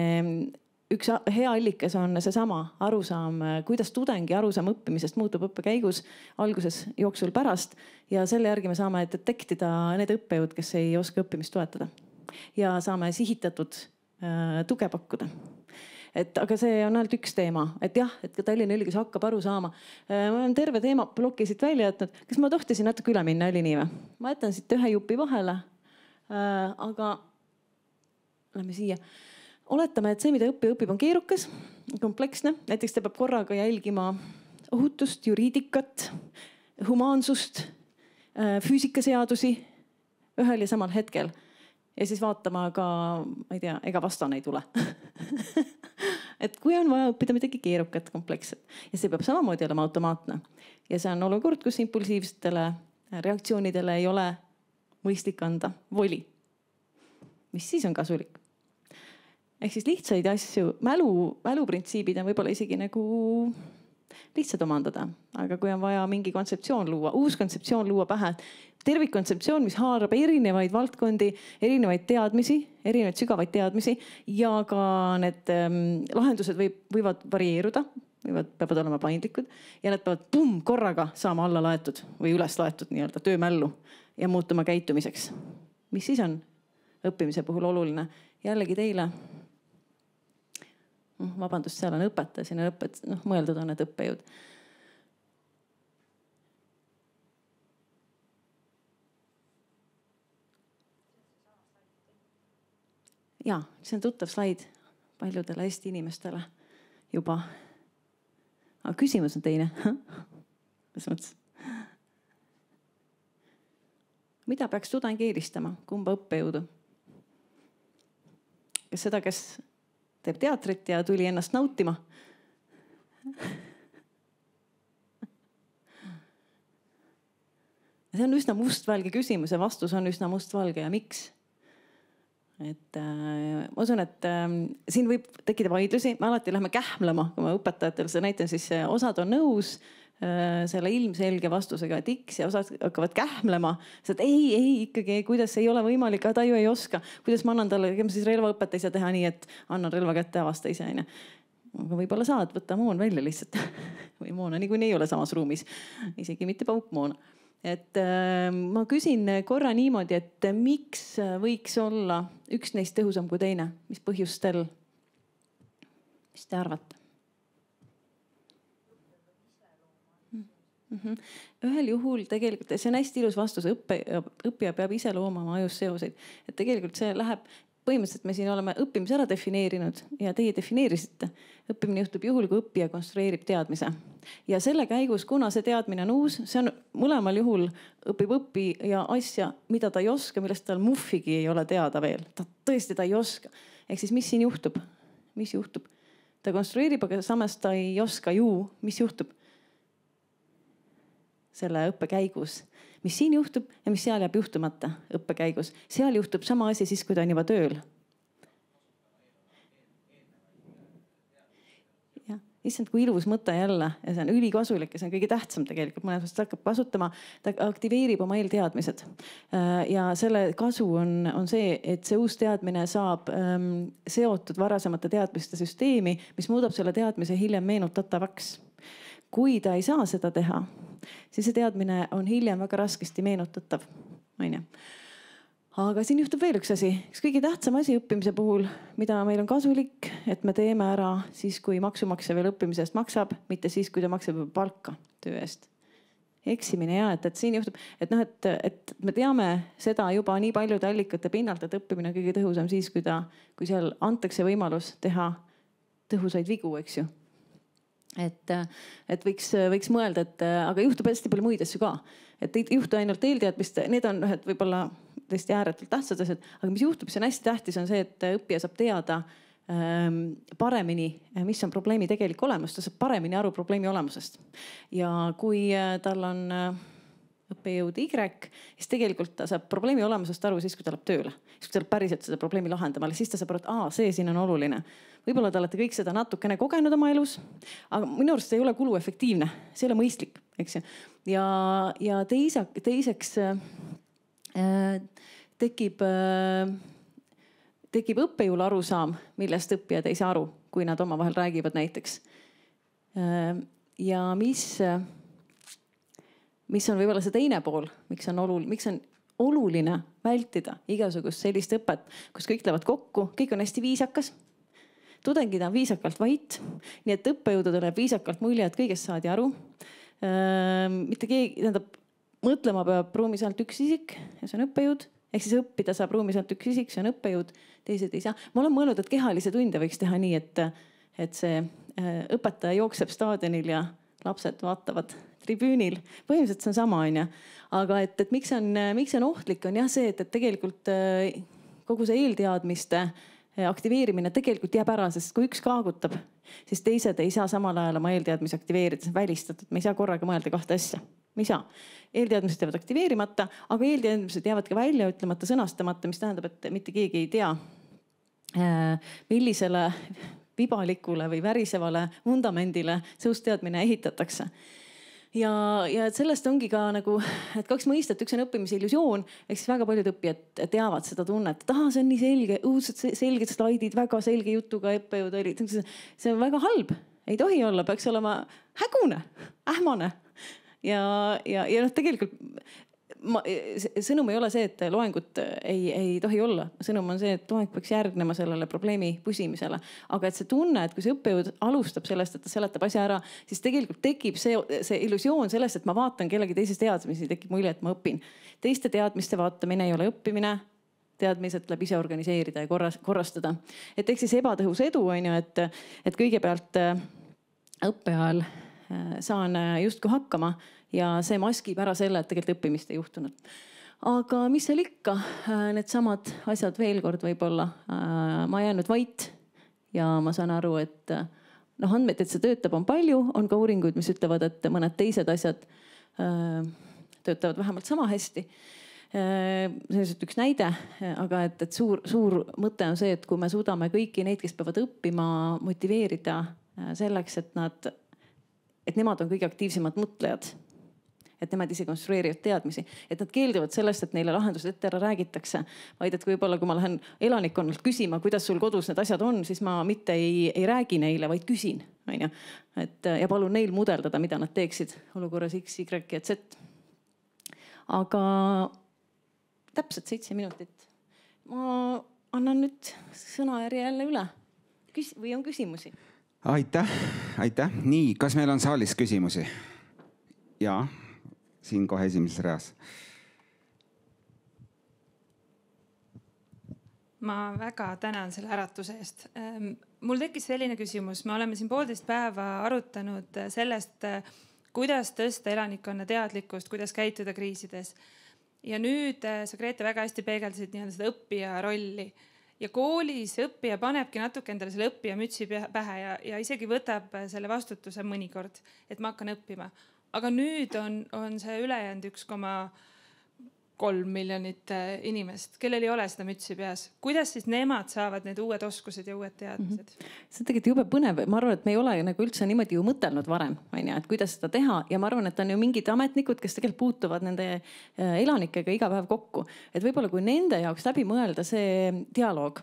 üks hea allikas on seesama arusaam, kuidas tudengi arusaam õppimisest muutub õppe käigus, alguses, jooksul, pärast. Ja selle järgi me saame detektida need õppejõud, kes ei oska õppimist toetada. Ja saame sihitatud tuge pakkuda. Aga see on ainult üks teema, et jah, et ka Tallinna Ülikool hakkab aru saama. Ma olen terve teema ploki siit välja jätnud. Kas ma tohtisin natuke üle minna, oli nii või? Ma jätan siit ühe jupi vahele. Aga lähme siia. Oletame, et see, mida õppija õpib, on keerukas, kompleksne. Näiteks ta peab korraga jälgima ohutust, juriidikat, humaansust, füüsikaseadusi ühel ja samal hetkel. Ja siis vaatama ka, ma ei tea, ega vastane ei tule. Et kui on vaja õppida midagi keerukat, kompleksset ja see peab samamoodi olema automaatne. Ja see on olukord, kus impulsiivsetele reaktsioonidele ei ole mõistlik anda voli. Mis siis on kasulik? Ehk siis lihtsaid asju, mäluprintsiibid on võib-olla isegi nagu lihtsad omandada. Aga kui on vaja mingi kontseptsioon luua, uus kontseptsioon luua pähe, tervikkontseptsioon, mis haarab erinevaid valdkondi, erinevaid teadmisi, erinevaid sügavaid teadmisi ja ka need lahendused võivad varieeruda, peavad olema paindlikud ja need peavad korraga saama alla laetud või üles laetud nii-öelda töömällu ja muutuma käitumiseks. Mis siis on õppimise puhul oluline? Jällegi teile. Vabandust, seal on õpetaja, siin on mõeldud on need õppejõud. Ja, see on tuttav slaid paljudele Eesti inimestele juba. Aga küsimus on teine. Mis mõttes? Mida peaks tudeng eelistama? Kumba õppejõudu? Kas seda, kes teeb teatrit ja tuli ennast nautima? See on üsna mustvalge küsimus ja vastus on üsna mustvalge ja miks? Et ma usun, et siin võib tekkida vaidlusi. Me alati lähme kähmlema, kui ma õpetajatel seda näitan, siis osad on nõus selle ilmselge vastusega, et X ja osad hakkavad kähmlema. Sest ei ikkagi, kuidas ei ole võimalik, ta ju ei oska. Kuidas ma annan talle, ma siis relvaõpet ei saa teha nii, et annan relva kätte, avasta ise. Aga võib-olla saad, võtta moon välja lihtsalt. Või moona niikuinii ei ole samas ruumis. Isegi mitte paukmoona. Et ma küsin korra niimoodi, et miks võiks olla üks neist tõhusam kui teine? Mis põhjustel? Mis te arvate? Ühel juhul tegelikult, see on hästi ilus vastus, õppija peab ise loomama ajus seoseid. Et tegelikult see läheb, põhimõtteliselt me siin oleme õppimise ära defineerinud ja teie defineerisite. Õppimine juhtub juhul, kui õppija konstrueerib teadmise. Ja selle käigus, kuna see teadmine on uus, see on mõlemal juhul õppija asja, mida ta ei oska, millest tal muffigi ei ole teada veel. Tõesti ta ei oska. Ehk siis mis siin juhtub? Mis juhtub? Ta konstrueerib, aga samas ta ei oska ju, mis juhtub selle õppe käigus. Mis siin juhtub ja mis seal jääb juhtumata õppe käigus. Seal juhtub sama asi siis, kui ta on juba tööl. Ja, issand, kui ilus mõte jälle ja see on ülikasulik ja see on kõige tähtsam tegelikult. Mõnes mõttes ta hakkab kasutama, ta aktiveerib oma eelteadmised. Ja selle kasu on see, et see uus teadmine saab seotud varasemate teadmiste süsteemi, mis muudab selle teadmise hiljem meenutatavaks. Kui ta ei saa seda teha, siis see teadmine on hiljem väga raskesti meenutatav. Aga siin juhtub veel üks asi. Üks kõige tähtsam asi õppimise puhul, mida meil on kasulik, et me teeme ära siis, kui maksumaksja veel õppimise eest maksab, mitte siis, kui ta maksab palka töö eest. Eksimine ja, et siin juhtub, et me teame seda juba nii paljude allikate pinnalt, et õppimine on kõige tõhusam siis, kui seal antakse võimalus teha tõhusaid vigu, eks ju. Et võiks mõelda, aga juhtub hästi palju muid asju ka. Et ei juhtu ainult eelteadmist, need on võib-olla tõesti ääretult tähtsad asjad, aga mis juhtub, see on hästi tähtis, on see, et õppija saab teada paremini, mis on probleemi tegelik olemus, ta saab paremini aru probleemi olemusest. Ja kui tal on õppejõud Y, siis tegelikult ta saab probleemi olemusest aru siis, kui ta läheb tööle. Siis kui ta läheb päriselt seda probleemi lahendama, siis ta saab aru, et see siin on oluline. Võib-olla te olete kõik seda natukene kogenud oma elus, aga minu arust see ei ole kuluefektiivne, see ei ole mõistlik, eks ju. Ja teiseks tekib õppejõul arusaam, millest õppijad ei saa aru, kui nad omavahel räägivad näiteks. Ja mis on võib-olla see teine pool, miks on oluline vältida igasugust sellist õpet, kus kõik lähevad kokku, kõik on hästi viisakas. Tudengid on viisakalt vait, nii et õppejõududele viisakalt mulje, et kõigest saadi aru. Mitte keegi, mõtlema peab ruumis ainult üks isik ja see on õppejõud. Ehk siis õppida saab ruumis ainult üks isik, see on õppejõud, teised ei saa. Ma olen mõelnud, et kehalise tunde võiks teha nii, et see õpetaja jookseb staadionil ja lapsed vaatavad tribüünil. Põhimõtteliselt see on sama, on ja. Aga et miks on ohtlik, on jah see, et tegelikult kogu see eelteadmiste aktiveerimine tegelikult jääb ära, sest kui üks kaagutab, siis teised ei saa samal ajal oma eelteadmisi aktiveerida, see on välistatud. Me ei saa korraga mõelda kahte asja. Me ei saa. Eelteadmised jäävad aktiveerimata, aga eelteadmised jäävad ka välja ütlemata, sõnastamata, mis tähendab, et mitte keegi ei tea, millisele vibalikule või värisevale vundamendile see uus teadmine ehitatakse. Ja sellest ongi ka nagu, et kaks mõistet, üks on õppimise illusioon, ehk siis väga paljud õppijad teavad seda tunnet, et see on nii selge, õudselt selged slaidid, väga selge jutuga õppejõud olid. See on väga halb, ei tohi olla, peaks olema hägune, ähmane. Ja tegelikult sõnum ei ole see, et loengut ei tohi olla. Sõnum on see, et loeng peaks järgnema sellele probleemi püsimisele. Aga et see tunne, et kui see õppejõud alustab sellest, et ta seletab asja ära, siis tegelikult tekib see illusioon sellest, et ma vaatan kellegi teisest teadmisi, tekib mulje, et ma õpin. Teiste teadmiste vaatamine ei ole õppimine, teadmised tuleb ise organiseerida ja korrastada. Et ehk siis ebatõhus edu on ju, et kõigepealt õppeajal saan justkui hakkama ja see maskib ära selle, et tegelikult õppimist ei juhtunud. Aga mis seal ikka, need samad asjad veel kord võib-olla. Ma jäänud vait ja ma saan aru, et andmed, et see töötab, on palju. On ka uuringuid, mis ütlevad, et mõned teised asjad töötavad vähemalt sama hästi. See on üks näide, aga et suur mõte on see, et kui me suudame kõiki neid, kes peavad õppima, motiveerida selleks, et nad et nemad on kõige aktiivsemad mõtlejad. Et nemad ise konstrueerivad teadmisi, et nad keelduvad sellest, et neile lahendused ette ära räägitakse, vaid et võib-olla, kui ma lähen elanikkonnalt küsima, kuidas sul kodus need asjad on, siis ma mitte ei räägi neile, vaid küsin, on ju. Ja palun neil mudeldada, mida nad teeksid olukorras X, Y ja Z. Aga täpselt 7 minutit. Ma annan nüüd sõnajärje jälle üle. Või on küsimusi? Aitäh. Nii, kas meil on saalis küsimusi? Jaa. Siin kohe esimeses reas. Ma väga tänan selle äratuse eest. Mul tekkis selline küsimus. Me oleme siin 1,5 päeva arutanud sellest, kuidas tõsta elanikkonna teadlikkust, kuidas käituda kriisides. Ja nüüd sa, Grete, väga hästi peegeldasid seda õppija rolli. Ja koolis õppija panebki natuke endale selle õppija mütsi pähe ja isegi võtab selle vastutuse mõnikord, et ma hakkan õppima. Aga nüüd on see ülejäänud 1,3 miljonit inimest, kellel ei ole seda mütsi peas. Kuidas siis nemad saavad need uued oskused ja uued teadmised? See on tegelikult jube põnev. Ma arvan, et me ei ole nagu üldse niimoodi ju mõtelnud varem, et kuidas seda teha. Ja ma arvan, et on ju mingid ametnikud, kes tegelikult puutuvad nende elanikega iga päev kokku. Et võib-olla kui nende jaoks läbi mõelda see dialoog,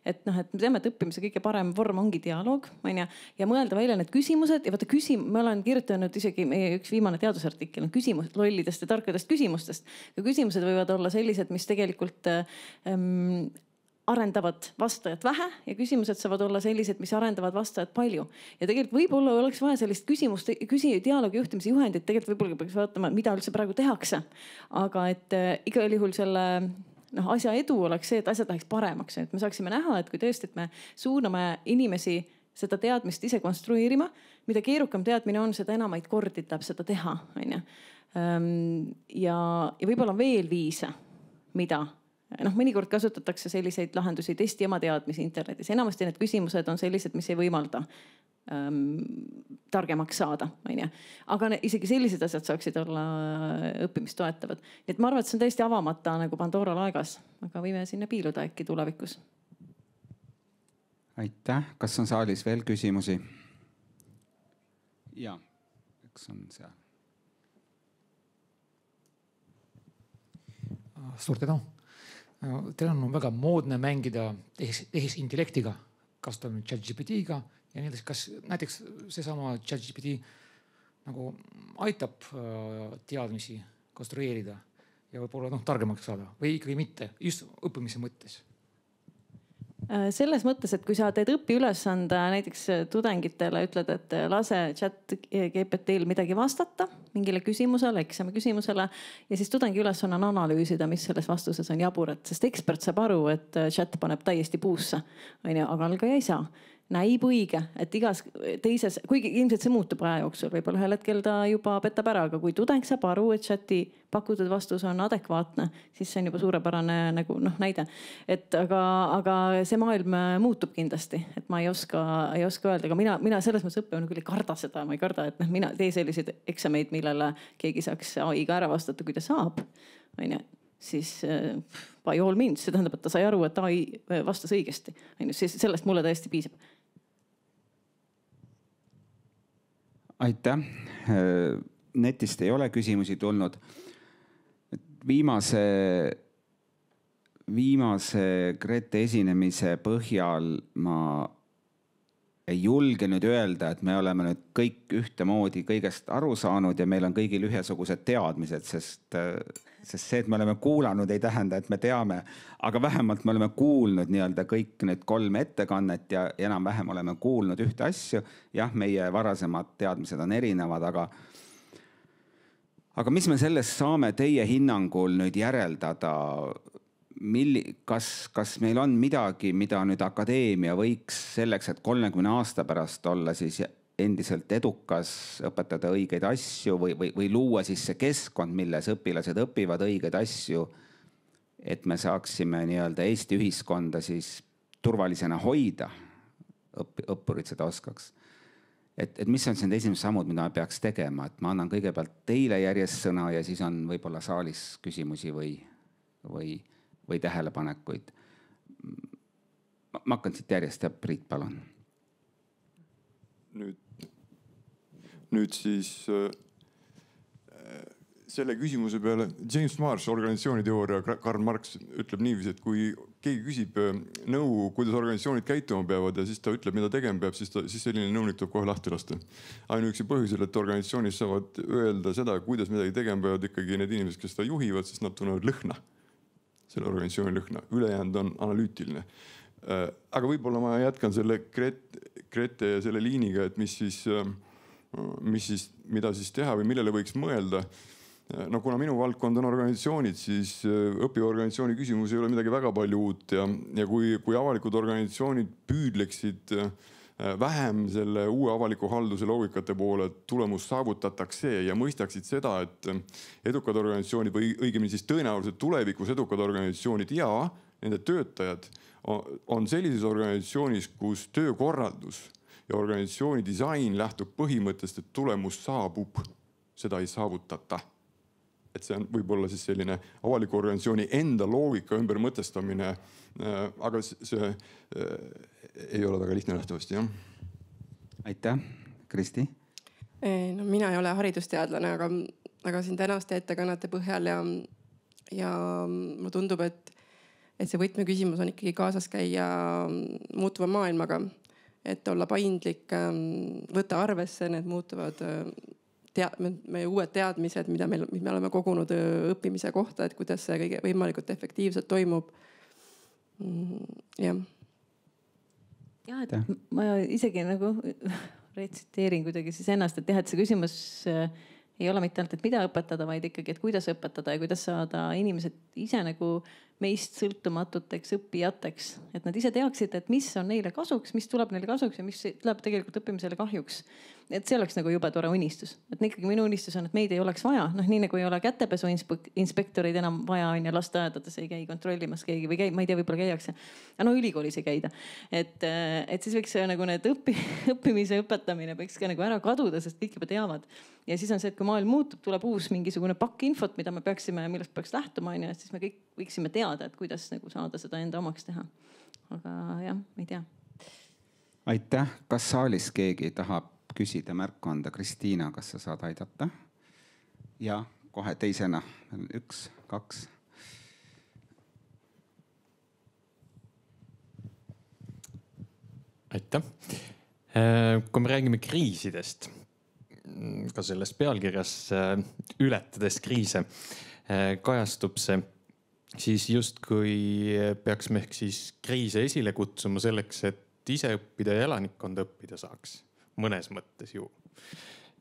et me teame, et õppimise kõige parem vorm ongi dialoog, ja mõelda välja need küsimused ja vaata ma olen kirjutanud isegi meie üks viimane teadusartikkel on küsimused lollidest ja tarkadest küsimustest. Ja küsimused võivad olla sellised, mis tegelikult arendavad vastajat vähe ja küsimused saavad olla sellised, mis arendavad vastajat palju. Ja tegelikult võib-olla oleks vaja sellist dialoogi juhtimise juhendit, tegelikult võib-olla peaks vaatama, mida üldse praegu tehakse. Aga et igal juhul selle asja edu oleks see, et asjad läheks paremaks. Et me saaksime näha, et kui tõesti, et me suuname inimesi seda teadmist ise konstrueerima, mida keerukam teadmine on, seda enamaid kordi tuleb seda teha. Ja võib-olla on veel viise, mida. Mõnikord kasutatakse selliseid lahendusi, testi oma teadmisi internetis. Enamasti need küsimused on sellised, mis ei võimalda targemaks saada. Aga isegi sellised asjad saaksid olla õppimist toetavad. Nii et ma arvan, et see on täiesti avamata nagu Pandora laegas, aga võime sinna piiluda äkki tulevikus. Aitäh. Kas on saalis veel küsimusi? Jaa, eks on seal. Suur tänu. Teil on väga moodne mängida tehisintellektiga, kasutame ChatGPT-ga ja nii edasi. Kas näiteks seesama ChatGPT nagu aitab teadmisi konstrueerida ja võib-olla targemaks saada või ikkagi mitte, just õppimise mõttes? Selles mõttes, et kui sa teed õpiülesande näiteks tudengitele, ütled, et lase ChatGPT-l midagi vastata mingile küsimusele, eksami küsimusele ja siis tudengi ülesanne on analüüsida, mis selles vastuses on jaburat, sest ekspert saab aru, et chat paneb täiesti puusse, aga algaja ei saa. Näib õige, et igas teises, kuigi ilmselt see muutub aja jooksul, võib-olla ühel hetkel ta juba petab ära, aga kui tudeng saab aru, et chati pakutud vastus on adekvaatne, siis see on juba suurepärane näide. Aga see maailm muutub kindlasti, et ma ei oska öelda, aga mina selles mõttes õppijana küll ei karda seda, ma ei karda, et mina tee selliseid eksameid, millele keegi saaks AI-ga ära vastata, kui ta saab. Siis by all means, see tähendab, et ta sai aru, et AI vastas õigesti. Sellest mulle täiesti piisab. Aitäh. Netist ei ole küsimusi tulnud. Viimase Grete esinemise põhjal ma ei julge nüüd öelda, et me oleme nüüd kõik ühtemoodi kõigest aru saanud ja meil on kõigil ühesugused teadmised, sest see, et me oleme kuulanud, ei tähenda, et me teame, aga vähemalt me oleme kuulnud kõik need 3 ettekannet ja enam-vähem oleme kuulnud ühte asju. Jah, meie varasemad teadmised on erinevad, aga mis me sellest saame teie hinnangul nüüd järeldada? Kas meil on midagi, mida nüüd akadeemia võiks selleks, et 30 aasta pärast olla siis endiselt edukas, õpetada õigeid asju või luua siis see keskkond, milles õpilased õpivad õigeid asju, et me saaksime Eesti ühiskonda siis turvalisena hoida, õppurid seda oskaks. Et mis on siin esimesed sammud, mida me peaks tegema? Et ma annan kõigepealt teile järjest sõna ja siis on võib-olla saalis küsimusi või tähelepanekuid. Ma hakkan siit järjest ja Priit, palun. Nüüd nüüd siis selle küsimuse peale James Marsh, organisatsiooniteooria, Karl Marx ütleb niiviisi, et kui keegi küsib nõu, kuidas organisatsioonid käituma peavad ja siis ta ütleb, mida tegema peab, siis selline nõunik tuleb kohe lahti lasta. Ainuüksi põhjusel, et organisatsioonis saavad öelda seda, kuidas midagi tegema peavad ikkagi need inimesed, kes seda juhivad, sest nad tunnevad lõhna, selle organisatsiooni lõhna. Ülejäänud on analüütiline. Aga võib-olla ma jätkan selle Grete ja selle liiniga, et mida siis teha või millele võiks mõelda. No kuna minu valdkond on organisatsioonid, siis õppiva organisatsiooni küsimus ei ole midagi väga palju uut ja kui avalikud organisatsioonid püüdleksid vähem selle uue avaliku halduse loogikate poole, et tulemus saavutatakse ja mõistaksid seda, et edukad organisatsioonid või õigemini siis tõenäoliselt tulevikus edukad organisatsioonid ja nende töötajad on sellises organisatsioonis, kus töökorraldus ja organisatsiooni disain lähtub põhimõttest, et tulemus saabub, seda ei saavutata. Et see on võib-olla siis selline avaliku organisatsiooni enda loogika ümber mõtestamine, aga see ei ole väga lihtne nähtavasti, jah. Aitäh, Kristi. No, mina ei ole haridusteadlane, aga siin tänaste ettekannete põhjal ja mulle tundub, et see võtmeküsimus on ikkagi kaasas käia muutuva maailmaga, et olla paindlik, võtta arvesse need muutuvad meie uued teadmised, mida me oleme kogunud õppimise kohta, et kuidas see kõige võimalikult efektiivselt toimub. Jah. Ja, et ma isegi nagu retsiteerin kuidagi siis ennast, et see küsimus ei ole mitte ainult, et mida õpetada, vaid ikkagi, et kuidas õpetada ja kuidas saada inimesed ise nagu meist sõltumatuteks õppijateks. Et nad ise teaksid, et mis on neile kasuks, mis tuleb neile kasuks ja mis tuleb tegelikult õppimisele kahjuks. Et see oleks nagu jube tore unistus. Et ikkagi minu unistus on, et meid ei oleks vaja. Nii nagu ei ole kätepesu inspektoreid enam vaja on ja lasteaedades ei käi kontrollimas keegi või ma ei tea, võib-olla käiakse. No ülikoolis ei käida. Et siis võiks nagu need õppimise õpetamine võiks ka nagu ära kaduda, sest kõik juba teavad. Ja siis on see, et kui maailm muutub, tuleb uus mingisugune pakk infot, millest peaks lähtuma, ja siis me kõik võiksime teada, et kuidas nagu saada seda enda omaks teha. Aga jah, ma ei tea. Aitäh. Kas saalis keegi tahab küsida, märku anda? Kristiina, kas sa saad aidata? Ja kohe teisena. 1, 2. Aitäh. Kui me räägime kriisidest, ka selles pealkirjas ületades kriise kajastub see, siis justkui peaks me ehk siis kriise esile kutsuma selleks, et ise õppida ja elanikkonda õppida saaks. Mõnes mõttes ju.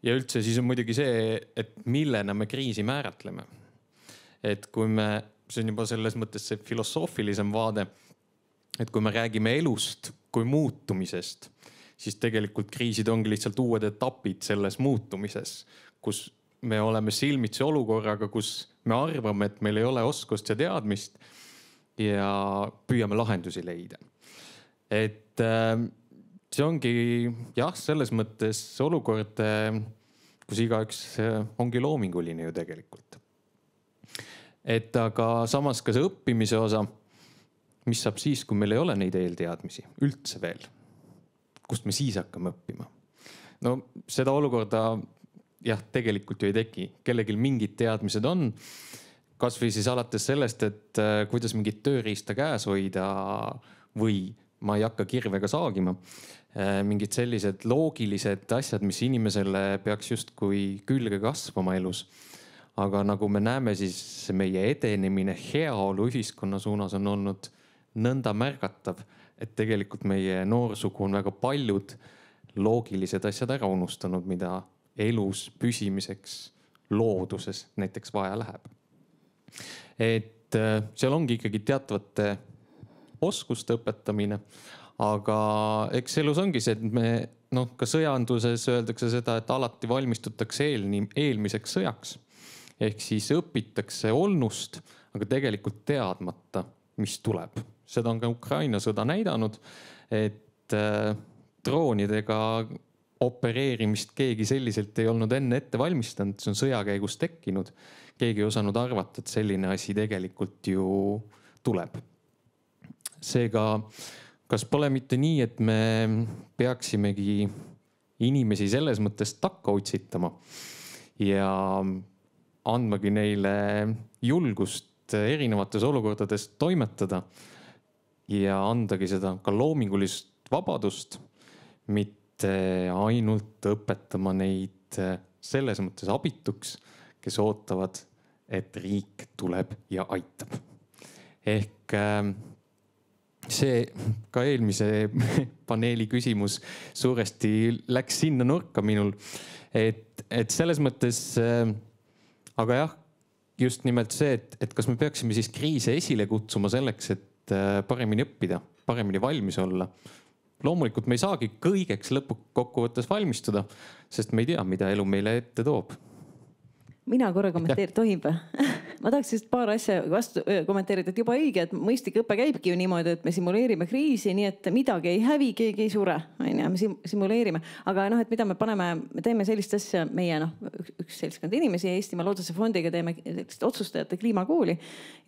Ja üldse siis on muidugi see, et millena me kriisi määratleme. Et kui see on juba selles mõttes see filosoofilisem vaade, et kui me räägime elust kui muutumisest, siis tegelikult kriisid ongi lihtsalt uued etapid selles muutumises, kus me oleme silmitsi olukorraga, kus me arvame, et meil ei ole oskust ja teadmist ja püüame lahendusi leida. Et see ongi jah, selles mõttes olukord, kus igaüks ongi loominguline ju tegelikult. Et aga samas ka see õppimise osa, mis saab siis, kui meil ei ole neid eelteadmisi üldse veel, kust me siis hakkame õppima. No seda olukorda jah, tegelikult ju ei teki. Kellegil mingid teadmised on, kas või siis alates sellest, et kuidas mingit tööriista käes hoida või ma ei hakka kirvega saagima. Mingid sellised loogilised asjad, mis inimesele peaks justkui külge kasvama elus. Aga nagu me näeme, siis meie edenemine heaolu ühiskonna suunas on olnud nõnda märgatav, et tegelikult meie noorsugu on väga paljud loogilised asjad ära unustanud, mida elus püsimiseks looduses näiteks vaja läheb. Et seal ongi ikkagi teatavate oskuste õpetamine, aga eks elus ongi see, et ka sõjanduses öeldakse seda, et alati valmistutakse eelmiseks sõjaks. Ehk siis õpitakse olnust, aga tegelikult teadmata, mis tuleb. Seda on ka Ukraina sõda näidanud, et droonidega opereerimist keegi selliselt ei olnud enne ette valmistanud, see on sõja käigus tekkinud. Keegi ei osanud arvata, et selline asi tegelikult ju tuleb. Seega, kas pole mitte nii, et me peaksimegi inimesi selles mõttes takka otsitama ja andmagi neile julgust erinevates olukordades toimetada ja andagi seda ka loomingulist vabadust, mitte ainult õpetama neid selles mõttes abituks, kes ootavad, et riik tuleb ja aitab. Ehk see ka eelmise paneeli küsimus suuresti läks sinna nurka minul, et selles mõttes, aga jah, just nimelt see, et kas me peaksime siis kriise esile kutsuma selleks, et paremini õppida, paremini valmis olla. Loomulikult me ei saagi kõigeks lõpukokkuvõttes valmistuda, sest me ei tea, mida elu meile ette toob. Mina korra kommenteerin, tohib? Ma tahaks just paar asja vastu kommenteerida, et juba õige, et mõistlik õpe käibki ju niimoodi, et me simuleerime kriisi, nii et midagi ei hävi, keegi ei sure, me simuleerime. Aga et mida me teeme sellist asja, meie üks seltskond inimesi Eestimaa Looduse Fondiga teeme otsustajate kliimakooli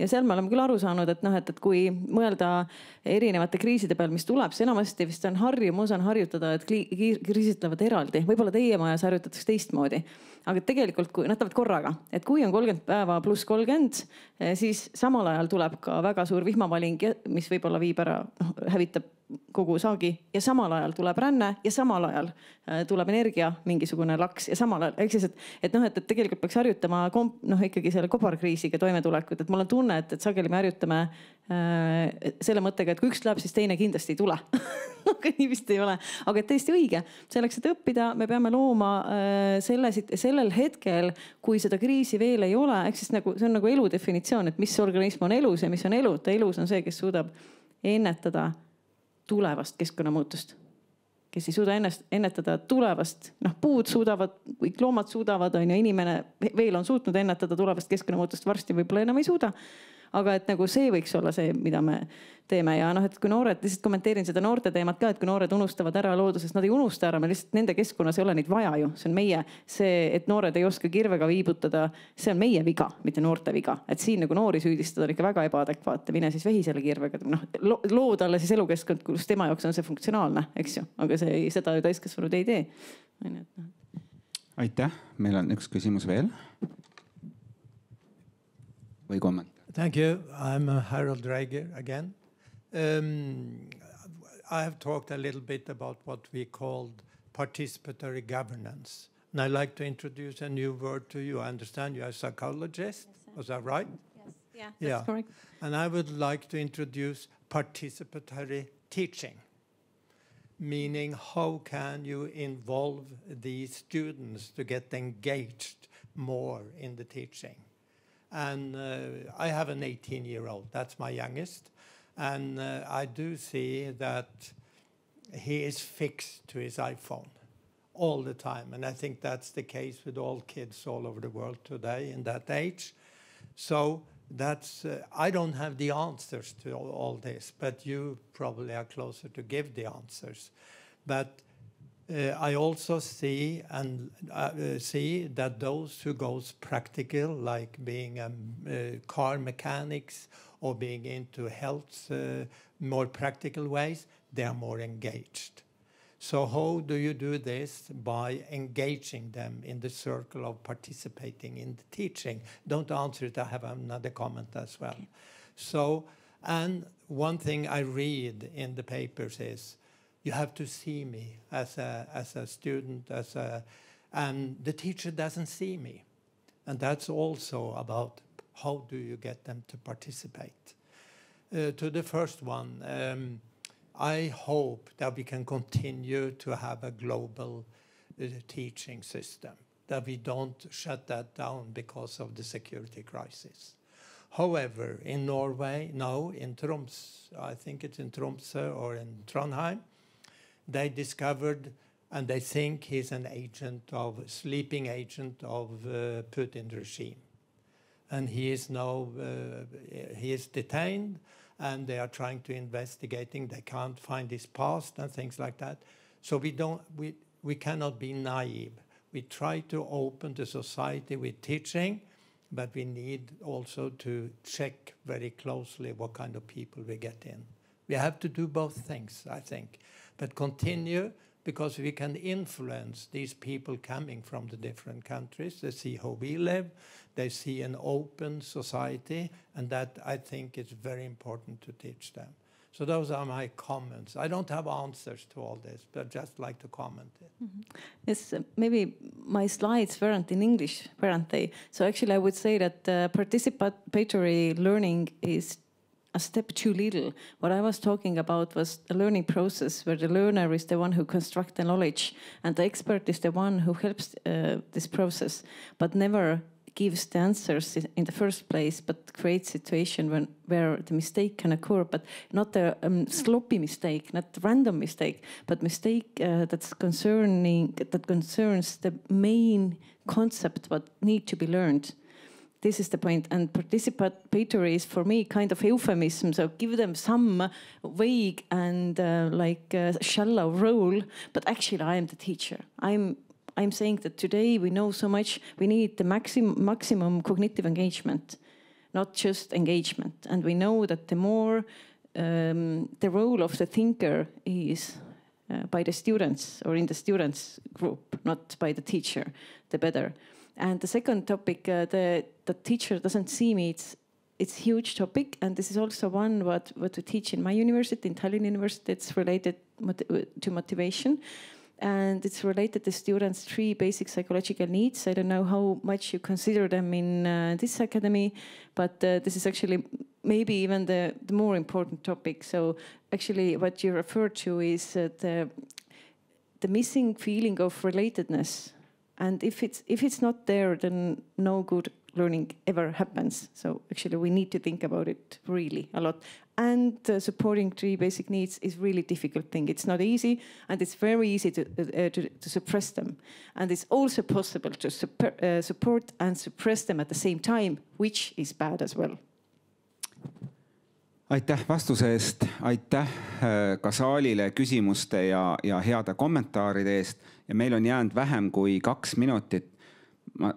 ja seal me oleme küll aru saanud, et kui mõelda erinevate kriiside peal, mis tuleb, see enamasti vist on harjumus on harjutada, et kriisid tulevad eraldi. Võib-olla teie majas harjutatakse teistmoodi. Aga tegelikult, kui nad tulevad korraga, et kui on 30 päeva pluss 30, siis samal ajal tuleb ka väga suur vihmavaling, mis võib-olla viib ära, hävitab kogu saagi ja samal ajal tuleb ränne ja samal ajal tuleb energia mingisugune laks ja samal ajal. Ehk siis, et tegelikult peaks harjutama ikkagi selle kobarkriisiga toimetulekut, et mul on tunne, et sageli me harjutame selle mõttega, et kui üks tuleb, siis teine kindlasti ei tule. Aga nii vist ei ole. Aga tõesti õige. Selleks, et õppida, me peame looma sellel hetkel, kui seda kriisi veel ei ole. Ehk siis see on nagu elu definitsioon, et mis organism on elus ja mis on eluta. Elus on see, kes suudab ennetada tulevast keskkonnamuutust. Kes ei suuda ennetada tulevast, puud suudavad, kõik loomad suudavad, inimene veel on suutnud ennetada tulevast keskkonnamuutust, varsti võib-olla enam ei suuda. Aga et see võiks olla see, mida me teeme. Ja et kui noored, lihtsalt kommenteerin seda noorte teemat ka, et kui noored unustavad ära looduses, nad ei unusta ära, me lihtsalt nende keskkonnas ei ole neid vaja ju. See on meie, et noored ei oska kirvega viibutada, see on meie viga, mitte noorte viga. Et siin noori süüdistada on ikka väga ebaadekvaatne, mine siis vehisele kirvega. Loo talle siis elukeskkond, kus tema jaoks on see funktsionaalne, eks ju. Aga seda ju täiskasvanud ei tee. Aitäh, meil on üks küsimus veel. Või komment? Thank you. I'm Harold Drager again. I have talked a little bit about what we called participatory governance. And I'd like to introduce a new word to you. I understand you're a psychologist. Yes, was that right? Yes. Yeah, that's correct. And I would like to introduce participatory teaching. Meaning, how can you involve these students to get engaged more in the teaching? And I have an 18-year-old, that's my youngest. And I do see that he is fixed to his iPhone all the time. And I think that's the case with all kids all over the world today in that age. So that's, I don't have the answers to all this, but you probably are closer to give the answers. But I also see that those who goes practical, like being car mechanics or being into health, more practical ways, they are more engaged. So how do you do this? By engaging them in the circle of participating in the teaching. Don't answer it, I have another comment as well. So, and one thing I read in the papers is, you have to see me as a student, and the teacher doesn't see me. And that's also about how do you get them to participate. To the first one, I hope that we can continue to have a global teaching system, that we don't shut that down because of the security crisis. However, in Norway, now in Tromsø, I think it's in Tromsø or in Trondheim, they discovered, and they think he's an sleeping agent of Putin regime. And he is now, he is detained, and they are trying to investigating. They can't find his past and things like that. So we cannot be naive. We try to open the society with teaching, but we need also to check very closely what kind of people we get in. We have to do both things, I think. But continue, because we can influence these people coming from the different countries. They see how we live, they see an open society, and that I think is very important to teach them. So those are my comments. I don't have answers to all this, but just like to comment it. Yes, maybe my slides weren't in English, weren't they? So actually I would say that participatory learning is a step too little. What I was talking about was a learning process where the learner is the one who constructs the knowledge and the expert is the one who helps this process, but never gives the answers in the first place, but creates a situation where the mistake can occur, but not a sloppy mistake, not a random mistake, but mistake that concerns the main concept what need to be learned. This is the point. And participatory is for me kind of euphemism. So give them some vague and shallow role, but actually I am the teacher. I'm saying that today we know so much, we need the maximum cognitive engagement, not just engagement. And we know that the more the role of the thinker is by the students or in the students group, not by the teacher, the better. And the second topic, the teacher doesn't see me, it's a huge topic. And this is also one what we teach in my university, in Tallinn University. It's related to motivation. And it's related to students' 3 basic psychological needs. I don't know how much you consider them in this academy, but this is actually maybe even the more important topic. So actually what you refer to is the missing feeling of relatedness. And if it's not there, then no good learning ever happens. So actually we need to think about it really a lot. And supporting 3 basic needs is really difficult thing. It's not easy, and it's very easy to suppress them. And it's also possible to support and suppress them at the same time, which is bad as well. Aitäh vastuse eest, aitäh ka saalile küsimuste ja heade kommentaaride eest. Ja meil on jäänud vähem kui 2 minutit. Ma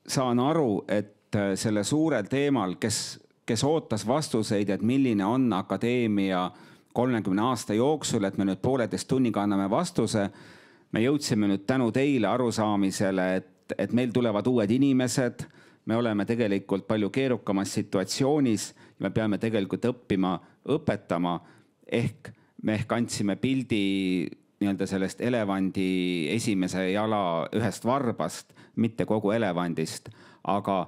saan aru, et selle suurel teemal, kes ootas vastuseid, et milline on akadeemia 30 aasta jooksul, et me nüüd 1,5 tunniga anname vastuse. Me jõudsime nüüd tänu teile arusaamisele, et meil tulevad uued inimesed. Me oleme tegelikult palju keerukamas situatsioonis ja me peame tegelikult õppima, õpetama. Me andsime pildi nii-öelda sellest elevandi esimese jala ühest varbast, mitte kogu elevandist. Aga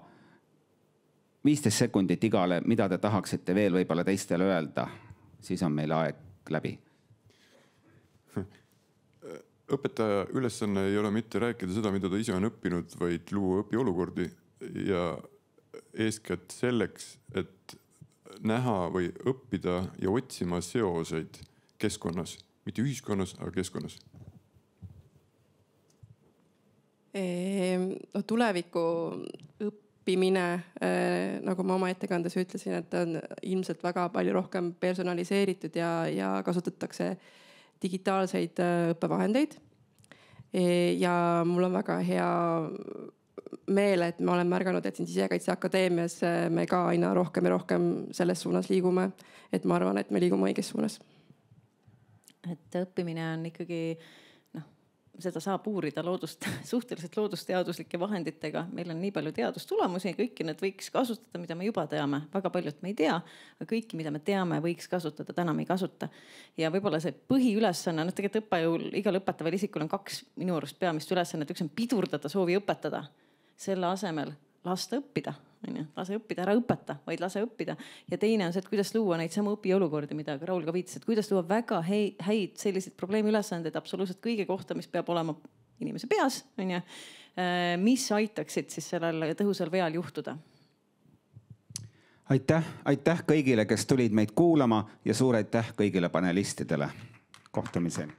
15 sekundit igale, mida te tahaksite veel võib-olla teistele öelda, siis on meil aeg läbi. Õpetaja ülesanne ei ole mitte rääkida seda, mida ta ise on õppinud, vaid luua õpiolukordi ja eeskätt selleks, et näha või õppida ja otsima seoseid keskkonnas, mitte ühiskonnas, aga keskkonnas. Tuleviku õppimine, nagu ma oma ettekandes ütlesin, et on ilmselt väga palju rohkem personaliseeritud ja kasutatakse digitaalseid õppevahendeid. Ja mul on väga hea meel, et ma olen märganud, et siin Sisekaitseakadeemias me ka aina rohkem ja rohkem selles suunas liigume. Et ma arvan, et me liigume õiges suunas. Et õppimine on ikkagi, seda saab uurida suhteliselt loodusteaduslike vahenditega. Meil on nii palju teadustulemusi, kõiki need võiks kasutada, mida me juba teame. Väga paljud me ei tea, aga kõiki, mida me teame, võiks kasutada, täna me ei kasuta. Ja võib-olla see põhiülesanne, tegelikult õppejõul, igal õpetaval isikul on 2 minu arust peamist ülesannet. Üks on pidurdada soovi õpetada. Selle asemel lasta õppida. Lase õppida, ära õpeta, vaid lase õppida. Ja teine on see, et kuidas luua neid samu õpiolukordi, mida Raul ka viitas, et kuidas luua väga häid selliseid probleemiülesandeid absoluutselt kõige kohta, mis peab olema inimese peas, mis aitaksid siis sellel tõhusal veal juhtuda. Aitäh kõigile, kes tulid meid kuulama ja suur aitäh kõigile panelistidele. Kohtumiseni.